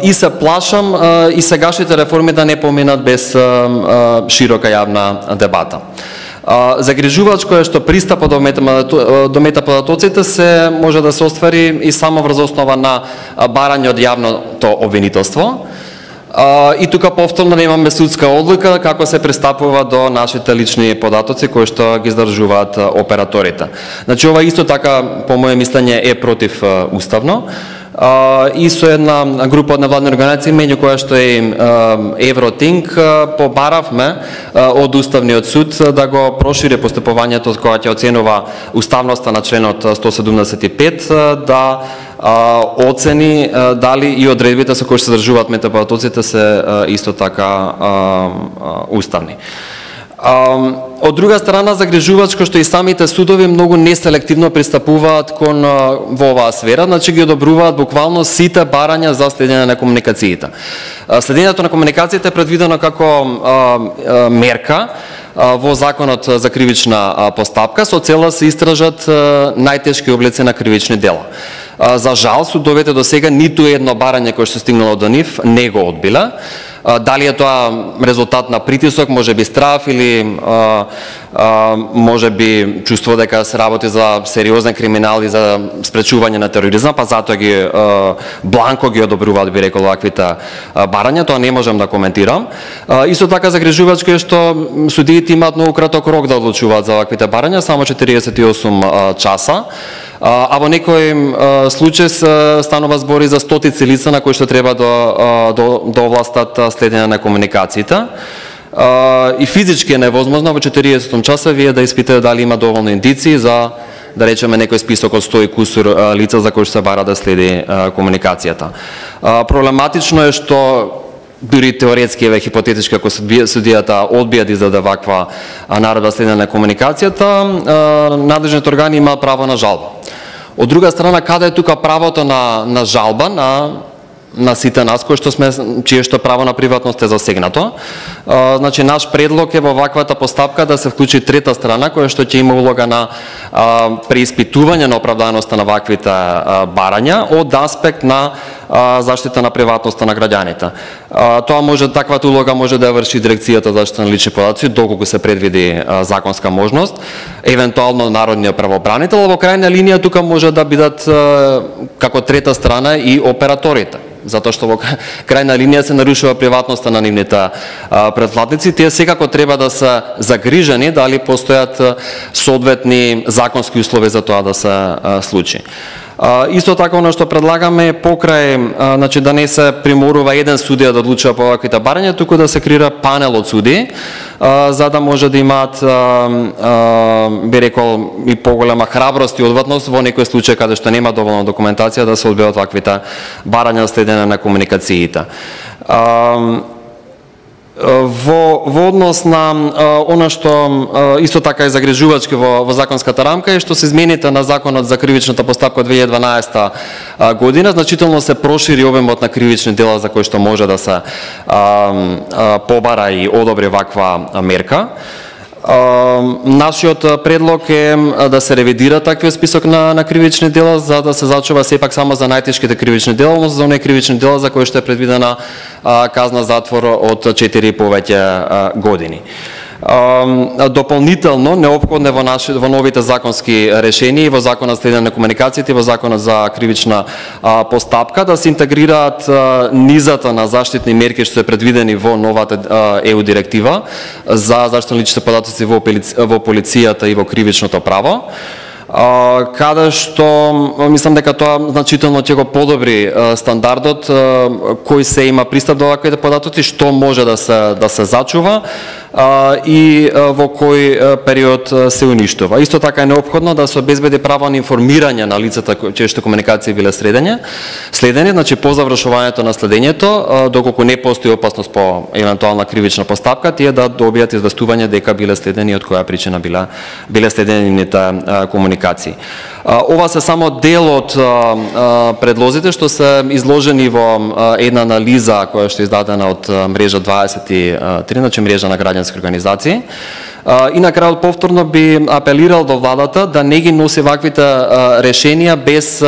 И се плашам и сегашните реформи да не поминат без широка јавна дебата. Загрижувачко е што пристапот до метаподатоците се може да се оствари и само врз основа на барање од јавното обвинителство. И тука повторно немаме судска одлука како се пристапува до нашите лични податоци кои што ги издржуваат операторите. Значи ова исто така по моје мислење е против уставно. И со една група од невладни организации, меѓу која што е Евротинг, побаравме од Уставниот суд да го прошири постапувањето кога ќе оценува уставноста на членот 175, да оцени дали и одредбите со кои се задржуваат метаподатоците се исто така уставни. Од друга страна, загрижувачко што и самите судови многу неселективно пристапуваат кон во оваа сфера, значи ги одобруваат буквално сите барања за следење на комуникациите. Следењето на комуникациите е предвидено како мерка во Законот за кривична постапка со цел да се истражат најтешки облици на кривични дела. За жал, судовите до сега ниту едно барање кое што стигнало до нив не го одбила. Дали е тоа резултат на притисок, можеби страв или можеби чувство дека се работи за сериозен криминал и за спречување на тероризам, па затоа ги бланко ги одобруваат, би рекол, ваквите барања, тоа не можам да коментирам. Исто така загрижувачко е што судиите имаат многу краток рок да одлучуваат за ваквите барања, само 48 часа. А во некој случај станува збори за стотици лица на кои што треба да овластат следење на комуникациите. И физички е невозможно во 40 часа вие да испитате дали има доволно индиции за, да речеме, некој список од 100 и кусур лица за кои што се бара да следи комуникацијата. Проблематично е што дури теоретски еве хипотетички ако судијата одбија да издаде ваква наредба следење на комуникацијата, надлежните органи имаат право на жалба. Од друга страна, каде е тука правото на жалба на сите нас кои што сме, чие што право на приватност е засегнато? Значи, наш предлог е во ваквата постапка да се вклучи трета страна која што ќе има улога на преиспитување на оправданоста на ваквите барања од аспект на заштита на приватноста на граѓаните. Тоа може, таквата улога може да ја врши дирекцијата за заштита на лични податоци доколку се предвиди законска можност, евентуално народниот правобранител, во крајна линија тука може да бидат како трета страна и операторите, затоа што во крајна линија се нарушува приватноста на нивните претплатници. Тие секако треба да се загрижени дали постојат соодветни законски услови за тоа да се случи. Исто така, оно што предлагаме е покрај, значи да не се приморува еден судија да одлучува по ваквите барања, туку да се креира панел од судии, за да може да имаат, би рекол, и поголема храброст и одватност во некој случај каде што нема доволно документација да се одбијат ваквите барања за следење на комуникациите. Во однос на она што исто така е загрижувачки во законската рамка е што се измените на законот за кривичната постапка од 2012 година, значително се прошири обемот на кривични дела за кои што може да се побара и одобри ваква мерка. Нашиот предлог е да се ревидира таквиот список на кривични дела за да се зачува сепак само за најтешките кривични дела, но за оние кривични дела за кои што е предвидена казна затвор од 4 и повеќе години. Дополнително неопходно во новите законски решенија и во законот за следење на комуникациите и во законот за кривична постапка да се интегрираат низата на заштитни мерки што се предвидени во новата ЕУ директива за заштита на личните податоци во полицијата и во кривичното право, каде што мислам дека тоа значително ќе го подобри стандардот кој се има пристап до ваквите податоци, што може да се зачува и во кој период се уништува. Исто така е неопходно да се обезбеди право на информирање на лицата чие што комуникации биле следени, значи по завршувањето на следењето, доколку не постои опасност по евентуална кривична постапка, тие да добијат известување дека биле следени и од која причина биле следени нивните комуникации. Ова се само дел од предлозите што се изложени во една анализа која што е издадена од мрежа 23, значи мрежа на граѓански организации. И на крајот повторно би апелирал до владата да не ги носи ваквите решенија без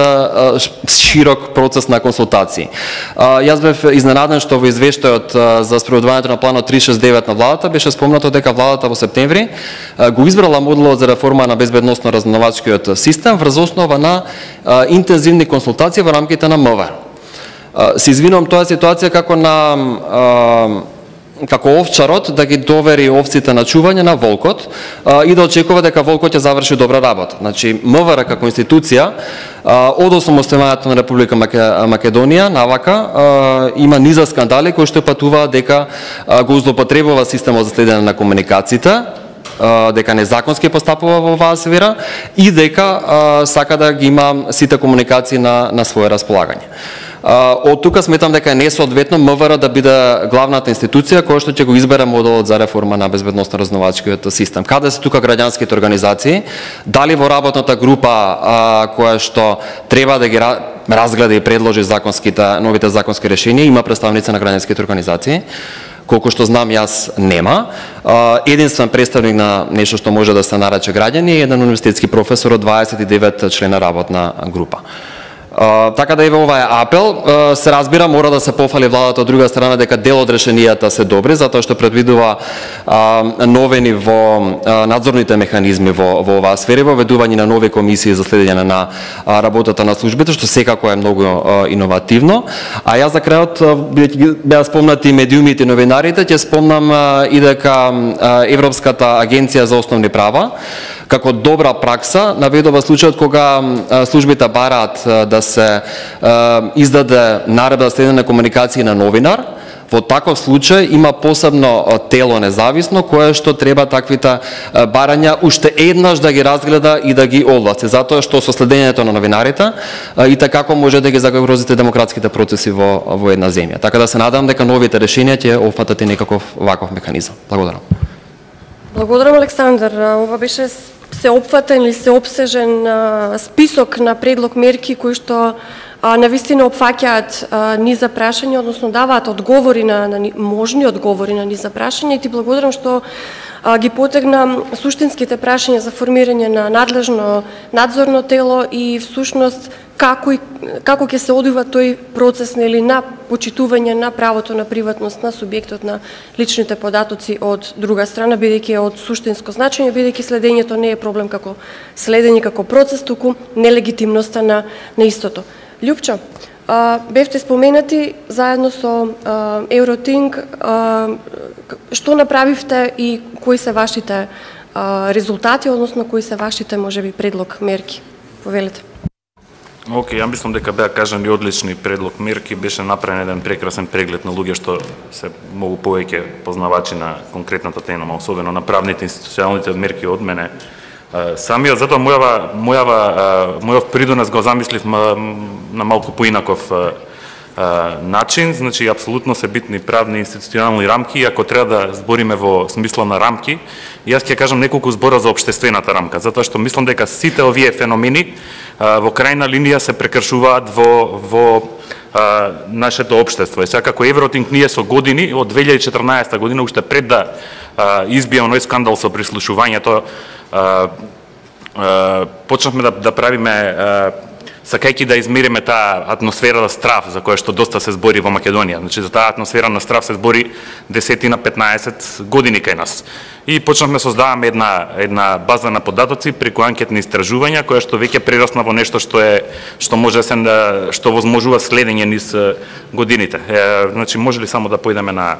широк процес на консултации. Јас бев изненаден што во извештајот за спроведувањето на планот 369 на владата беше спомнато дека владата во септември го избрала моделот за реформа на безбедносно разузнавачкиот систем врз основа на интензивни консултации во рамките на МВР. Се извинувам, тоа е ситуација како овчарот да ги довери овците на чување на волкот и да очекува дека волкот ќе заврши добра работа. Значи, МВР како институција од осамостојувањето на Република Македонија навака има низа скандали кои што патуваат дека го злоупотребува системот за следење на комуникациите, дека незаконски постапува во оваа сфера и дека сака да ги има сите комуникации на свое располагање. Од тука сметам дека е несоодветно МВР да биде главната институција која што ќе го избере моделот за реформа на безбедносно разузнавачкиот систем. Каде се тука граѓанските организации? Дали во работната група која што треба да ги разгледа и предложи новите законски решенија има представници на граѓанските организации? Колку што знам јас нема. Единствен представник на нешто што може да се нарече граѓани е еден универзитетски професор од 29 члена работна група. Така да еве ова е апел, се разбира мора да се пофали владата од друга страна дека дел од решенијата се добри затоа што предвидува новени во надзорните механизми во оваа сфера, воведување на нови комисии за следење на работата на службите, што секако е многу иновативно. А јас за крајот, бидејќи беа спомнати медиумите и новинарите, ќе спомнам и дека Европската агенција за основни права како добра пракса наведува случајот кога службите бараат да се издаде наредба за следење на комуникации на новинар. Во таков случај има посебно тело независно кое што треба таквите барања уште еднаш да ги разгледа и да ги овласти, затоа што со следењето на новинарите и како може да ги загрозите демократските процеси во една земја. Така да се надам дека новите решенија ќе опфатат и некаков ваков механизам. Благодарам. Благодарам, Александар. Ова беше сеопфатен или сеопсежен список на предлог мерки кои што навистина опфаќаат низ за прашање, односно даваат одговори на можни одговори на низ за прашање, и ти благодарам што ги потегна суштинските прашања за формирање на надлежно надзорно тело и всушност како ќе се одвива тој процес на почитување на правото на приватност на субјектот на личните податоци од друга страна, бидејќи е од суштинско значење, бидејќи следењето не е проблем како следење како процес, туку нелегитимноста на истото. Љупчо, бевте споменати заедно со Евротинг, што направивте и кои се вашите резултати, односно кои се вашите можеби предлог мерки? Повелете. Океј, ја мислам дека беа кажани одлични предлог мерки, беше направен еден прекрасен преглед на луѓе што се многу повеќе познавачи на конкретната тема, особено на правните институционалните мерки од мене. Самиот, затоа мојов придонес го замислив на малку поинаков начин, значи апсолутно се битни правни институционални рамки, ако треба да збориме во смисла на рамки, јас ќе кажам неколку збора за општествената рамка, затоа што мислам дека сите овие феномени во крајна линија се прекршуваат во нашето општество. И сега како Евротинг ние со години, од 2014 година, уште пред да избие оној скандал со прислушувањето, почнавме да правиме, сакајќи да измериме таа атмосфера на страф за која што доста се збори во Македонија. Значи за таа атмосфера на страф се збори 10-15 години кај нас. И почнавме создаваме една база на податоци преку анкетни истражувања која што веќе прерасна во нешто што може што возможува следење низ годините. Значи може ли само да појдеме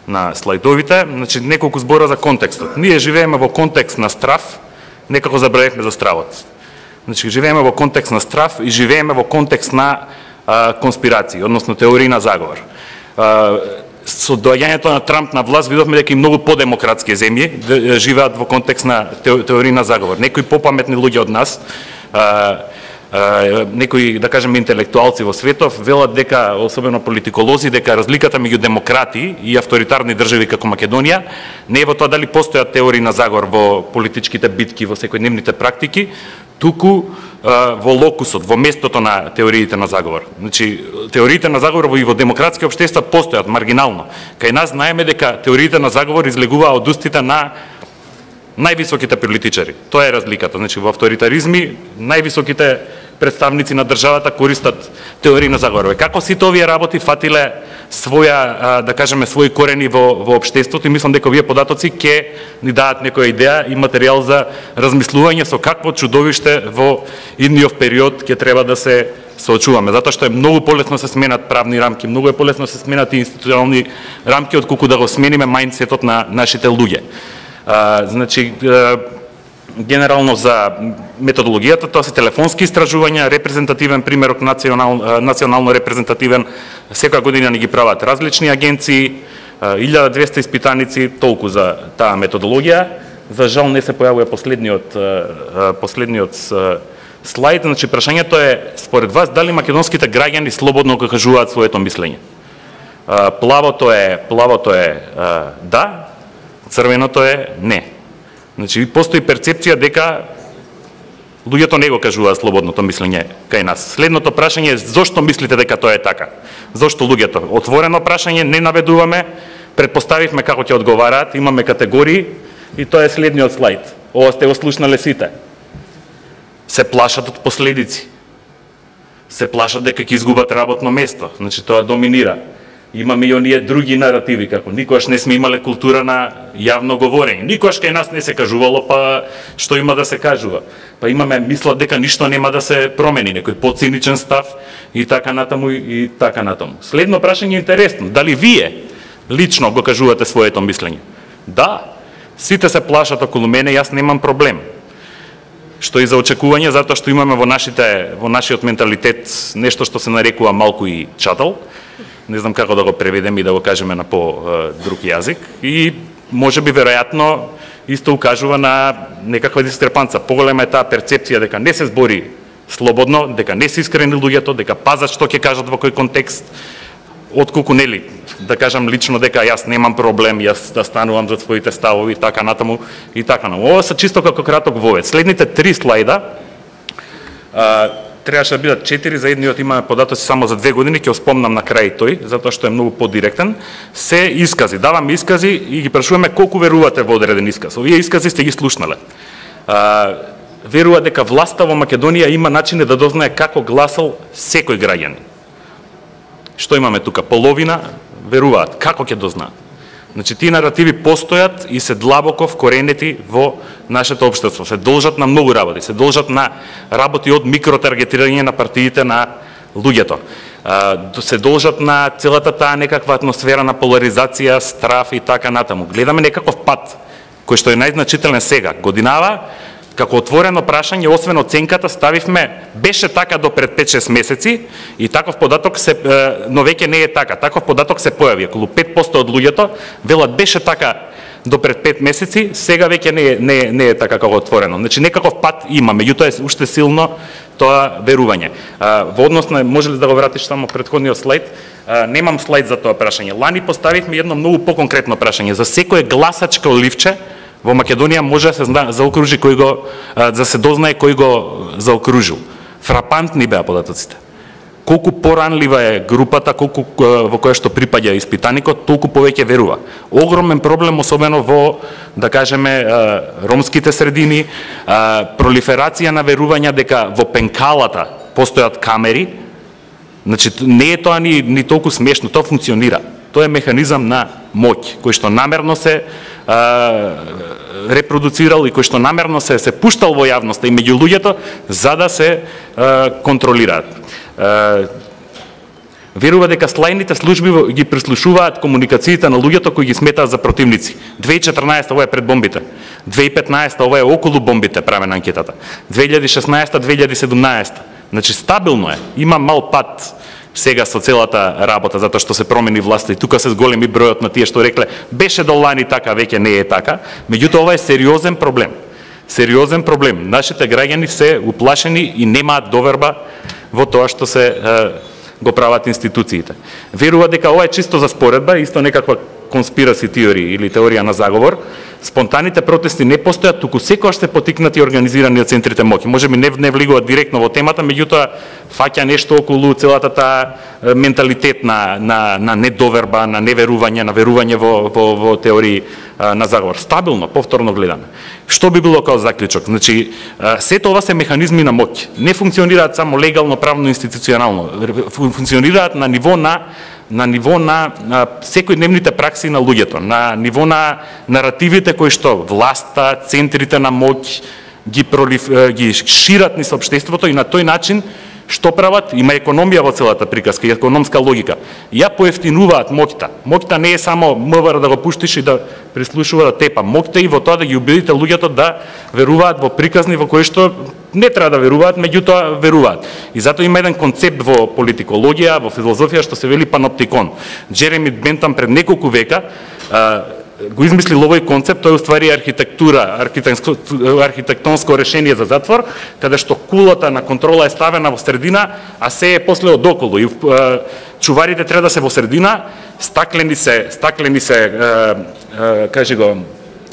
на слайдовите? Значи неколку збора за контекстот. Ние живееме во контекст на страф, некако забравивме за стравот. Значи живееме во контекст на страф и живееме во контекст на конспирации, односно теории на заговор. Со доаѓањето на Трамп на власт видовме дека и многу подемократски земји живеат во контекст на теории на заговор. Некои попаметни луѓе од нас, некои, да кажеме, интелектуалци во светов велат дека, особено политиколози, дека разликата меѓу демократи и авторитарни држави како Македонија не е во тоа дали постојат теории на заговор во политичките битки, во секојдневните практики, туку во локусот, во местото на теориите на заговор. Значи, теориите на заговор и во демократски општества постојат маргинално. Кај нас знаеме дека теориите на заговор излегуваа од устите на највисоките политичари. Тоа е разликата. Значи, во авторитаризми највисоките представници на државата користат теории на заговор. Како сите овие работи фатиле своја, да кажеме, своји корени во општеството, и мислам дека овие податоци ќе ни дадат некоја идеја и материјал за размислување со какво чудовиште во идниот период ќе треба да се соочуваме, затоа што е многу полесно се сменат правни рамки, многу е полесно се сменат и институционални рамки отколку да го смениме мајндсетот на нашите луѓе. Значи, генерално за методологијата, тоа се телефонски истражувања, репрезентативен примерок, национално репрезентативен, секоја година ни ги прават различни агенции, 1200 испитаници, толку за таа методологија. За жал не се појавува последниот слайд. Значи, прашањето е, според вас, дали македонските граѓани слободно го кажуваат своето мислење? Плавото е да, црвеното е не. Значи, постои перцепција дека луѓето не го кажуваат слободното мислење кај нас. Следното прашање е зошто мислите дека тоа е така? Зошто луѓето? Отворено прашање, не наведуваме, предпоставивме како ќе одговараат, имаме категории и тоа е следниот слайд. Ова сте го слушнале сите. Се плашат од последици. се плашат дека ќе изгубат работно место. Значи тоа доминира. Имаме и оние други наративи, како никогаш не сме имале култура на јавно говорење. Никогаш кај нас не се кажувало, па што има да се кажува. Па имаме мисла дека ништо нема да се промени, некој поциничен став и така натаму и така натаму. Следно прашање е интересно, дали вие лично го кажувате своето мислење? Да, сите се плашат околу мене, јас немам проблем. Што и за очекување, затоа што имаме во нашиот менталитет нешто што се нарекува малку и чатал. Не знам како да го преведеме и да го кажеме на по-друг јазик. И може би веројатно исто укажува на некаква дискрепанца. Поголема е таа перцепција дека не се збори слободно, дека не се искрени луѓето, дека пазат што ќе кажат во кој контекст, отколку нели, да кажам лично дека јас немам проблем, јас да станувам за своите ставови, така натаму и така натаму. Ова се чисто како краток вовед. Следните 3 слайда, требаше да бидат 4, за едниот имаме податоци само за 2 години, ќе спомнам на крај тој, затоа што е многу подиректен. Се искази, даваме искази и ги прашуваме колку верувате во одреден исказ. Овие искази сте ги слушнале. Верува дека власта во Македонија има начини да дознае како гласал секој граѓанин. Што имаме тука? Половина веруваат. Како ќе дознаат? Значи, тие наративи постојат и се длабоко вкоренети во нашето општество. Се должат на многу работи. Се должат на работи од микротаргетирање на партиите на луѓето. Се должат на целата таа некаква атмосфера на поларизација, страф и така натаму. Гледаме некаков пат, кој што е најзначителен сега. Годинава, како отворено прашање, освен оценката, ставивме беше така до пред 5-6 месеци и таков податок но веќе не е така. Таков податок се појави. Околу 5% од луѓето велат беше така до пред 5 месеци, сега веќе не е така како отворено. Значи некаков пат има, меѓутоа е уште силно тоа верување. Во однос на, може ли да го вратиш само претходниот слайд? Немам слайд за тоа прашање. Лани поставивме едно многу поконкретно прашање. За секое гласачко ливче во Македонија може да се заокружи кој го, да се дознае кој го заокружил. Фрапантни беа податоците. Колку поранлива е групата, колку во која што припаѓа испитаникот, толку повеќе верува. Огромен проблем, особено во, да кажеме, ромските средини, пролиферација на верувања дека во пенкалата постојат камери. Значи, не е тоа ни толку смешно, тоа функционира. Тоа е механизам на моќ, кој што намерно се репродуцирал и кој што намерно се пуштал во јавноста и меѓу луѓето за да се контролираат. Верува дека слајните служби ги прислушуваат комуникациите на луѓето кои ги сметаат за противници. 2014 ова е пред бомбите. 2015 ова е околу бомбите правена анкетата. 2016 2017. Значи стабилно е. Има мал пат сега со целата работа, затоа што се промени власта и тука се зголеми бројот на тие што рекле беше до лани така, веќе не е така. Меѓутоа ова е сериозен проблем. Сериозен проблем. Нашите граѓани се уплашени и немаат доверба во тоа што се го прават институциите. Верува дека ова е чисто за споредба, исто некаква конспираси теорија или теорија на заговор. Спонтаните протести не постојат, туку секогаш се потикнати и организирани од центрите моќи. Можеби не влегуваат директно во темата, меѓутоа фаќа нешто околу целата таа менталитет на недоверба, на неверување, на верување во теории на заговор. Стабилно, повторно гледаме. Што би било као заклучок? Значи, сето ова се механизми на моќ. Не функционираат само легално, правно, институционално. Функционираат на ниво на секојдневните пракси на луѓето, на ниво на наративите кои што власта, центрите на моќ ги шират низ општеството и на тој начин што прават? Има економија во целата приказка и економска логика. Ја поевтинуваат моќта. Моќта не е само МВР да го пуштиш и да прислушува да тепа. Моќта и во тоа да ги убедите луѓето да веруваат во приказни во кои што не треба да веруваат, меѓутоа веруваат. И затоа има еден концепт во политикологија, во филозофија што се вели паноптикон. Джереми Бентам пред неколку века го измислил овој концепт, тој уствари архитектонско решение за затвор, каде што кулата на контрола е ставена во средина, а се е после одоколу. И чуварите треба да се во средина, стаклени се, кажи го,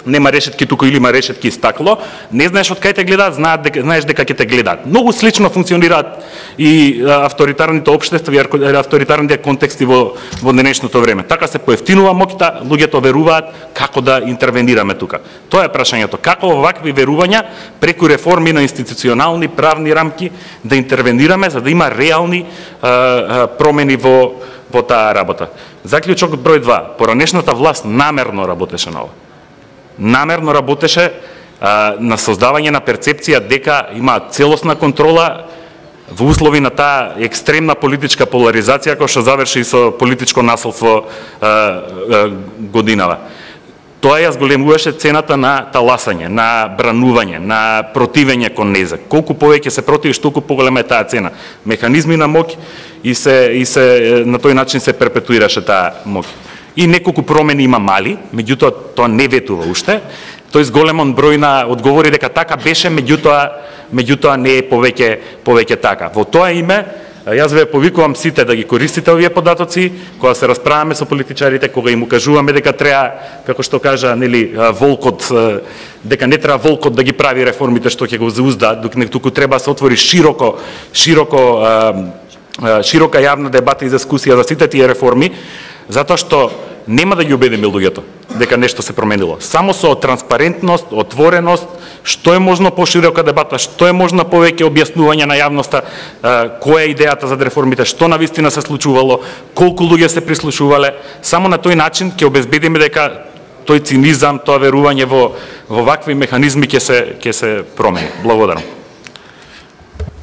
нема решетки туку или има решетки и стакло, не знаеш од кај те гледаат, знаеш дека ќе те гледаат. Многу слично функционираат и авторитарните општества и авторитарните контексти во денешното време. Така се поевтинува моќта, луѓето веруваат како да интервенираме тука. Тоа е прашањето, како овакви верувања преку реформи на институционални правни рамки да интервенираме за да има реални промени во таа работа. Заклучок број 2. Поранешната власт намерно работеше на ова. Намерно работеше на создавање на перцепција дека има целосна контрола во услови на таа екстремна политичка поларизација која што заврши со политичко насилство годинава. Тоа ја зголемуваше цената на таласање, на бранување, на противење кон нејза. Колку повеќе се противиш, толку поголема е таа цена. Механизми на моќ и се на тој начин се перпетуираше таа моќ. И неколку промени има мали, меѓутоа тоа не ветува уште. Тој зголемон број на одговори дека така беше, меѓутоа не е повеќе така. Во тоа име, јас ве повикувам сите да ги користите овие податоци, кога се расправаме со политичарите, кога им укажуваме дека треба, како што кажа, нели, волкот, дека не треба волкот да ги прави реформите што ќе го заузда, туку треба да се отвори широка јавна дебата и дискусија за сите тие реформи, затоа што нема да ги убедиме луѓето дека нешто се променило. Само со транспарентност, отвореност, што е можно поширока дебата, што е можно повеќе објаснување на јавноста, која е идејата за реформите, што навистина се случувало, колку луѓе се прислушувале, само на тој начин ќе обезбедиме дека тој цинизам, тоа верување во вакви механизми ќе се промени. Благодарам.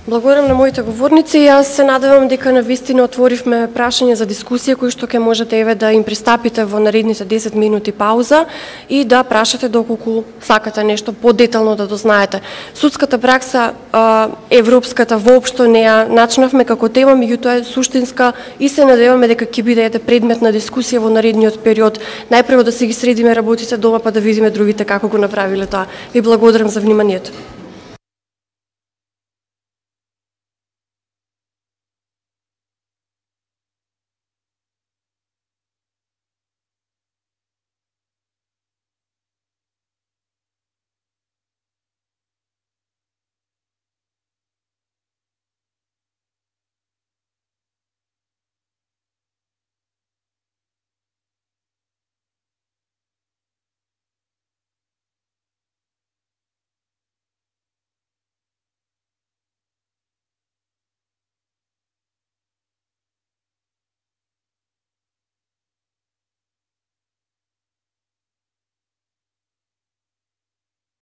Благодарам на моите говорници. Јас се надевам дека навистина отворивме прашање за дискусија кои што ќе можете еве да им пристапите во наредните 10 минути пауза и да прашате доколку сакате нешто подетално да дознаете. Судската пракса европската воопшто не ја начнавме како тема, меѓутоа е суштинска и се надеваме дека ќе биде предмет на дискусија во наредниот период. Најпрво да си ги средиме работите дома па да видиме другите како го направиле тоа. Ви благодарам за вниманието.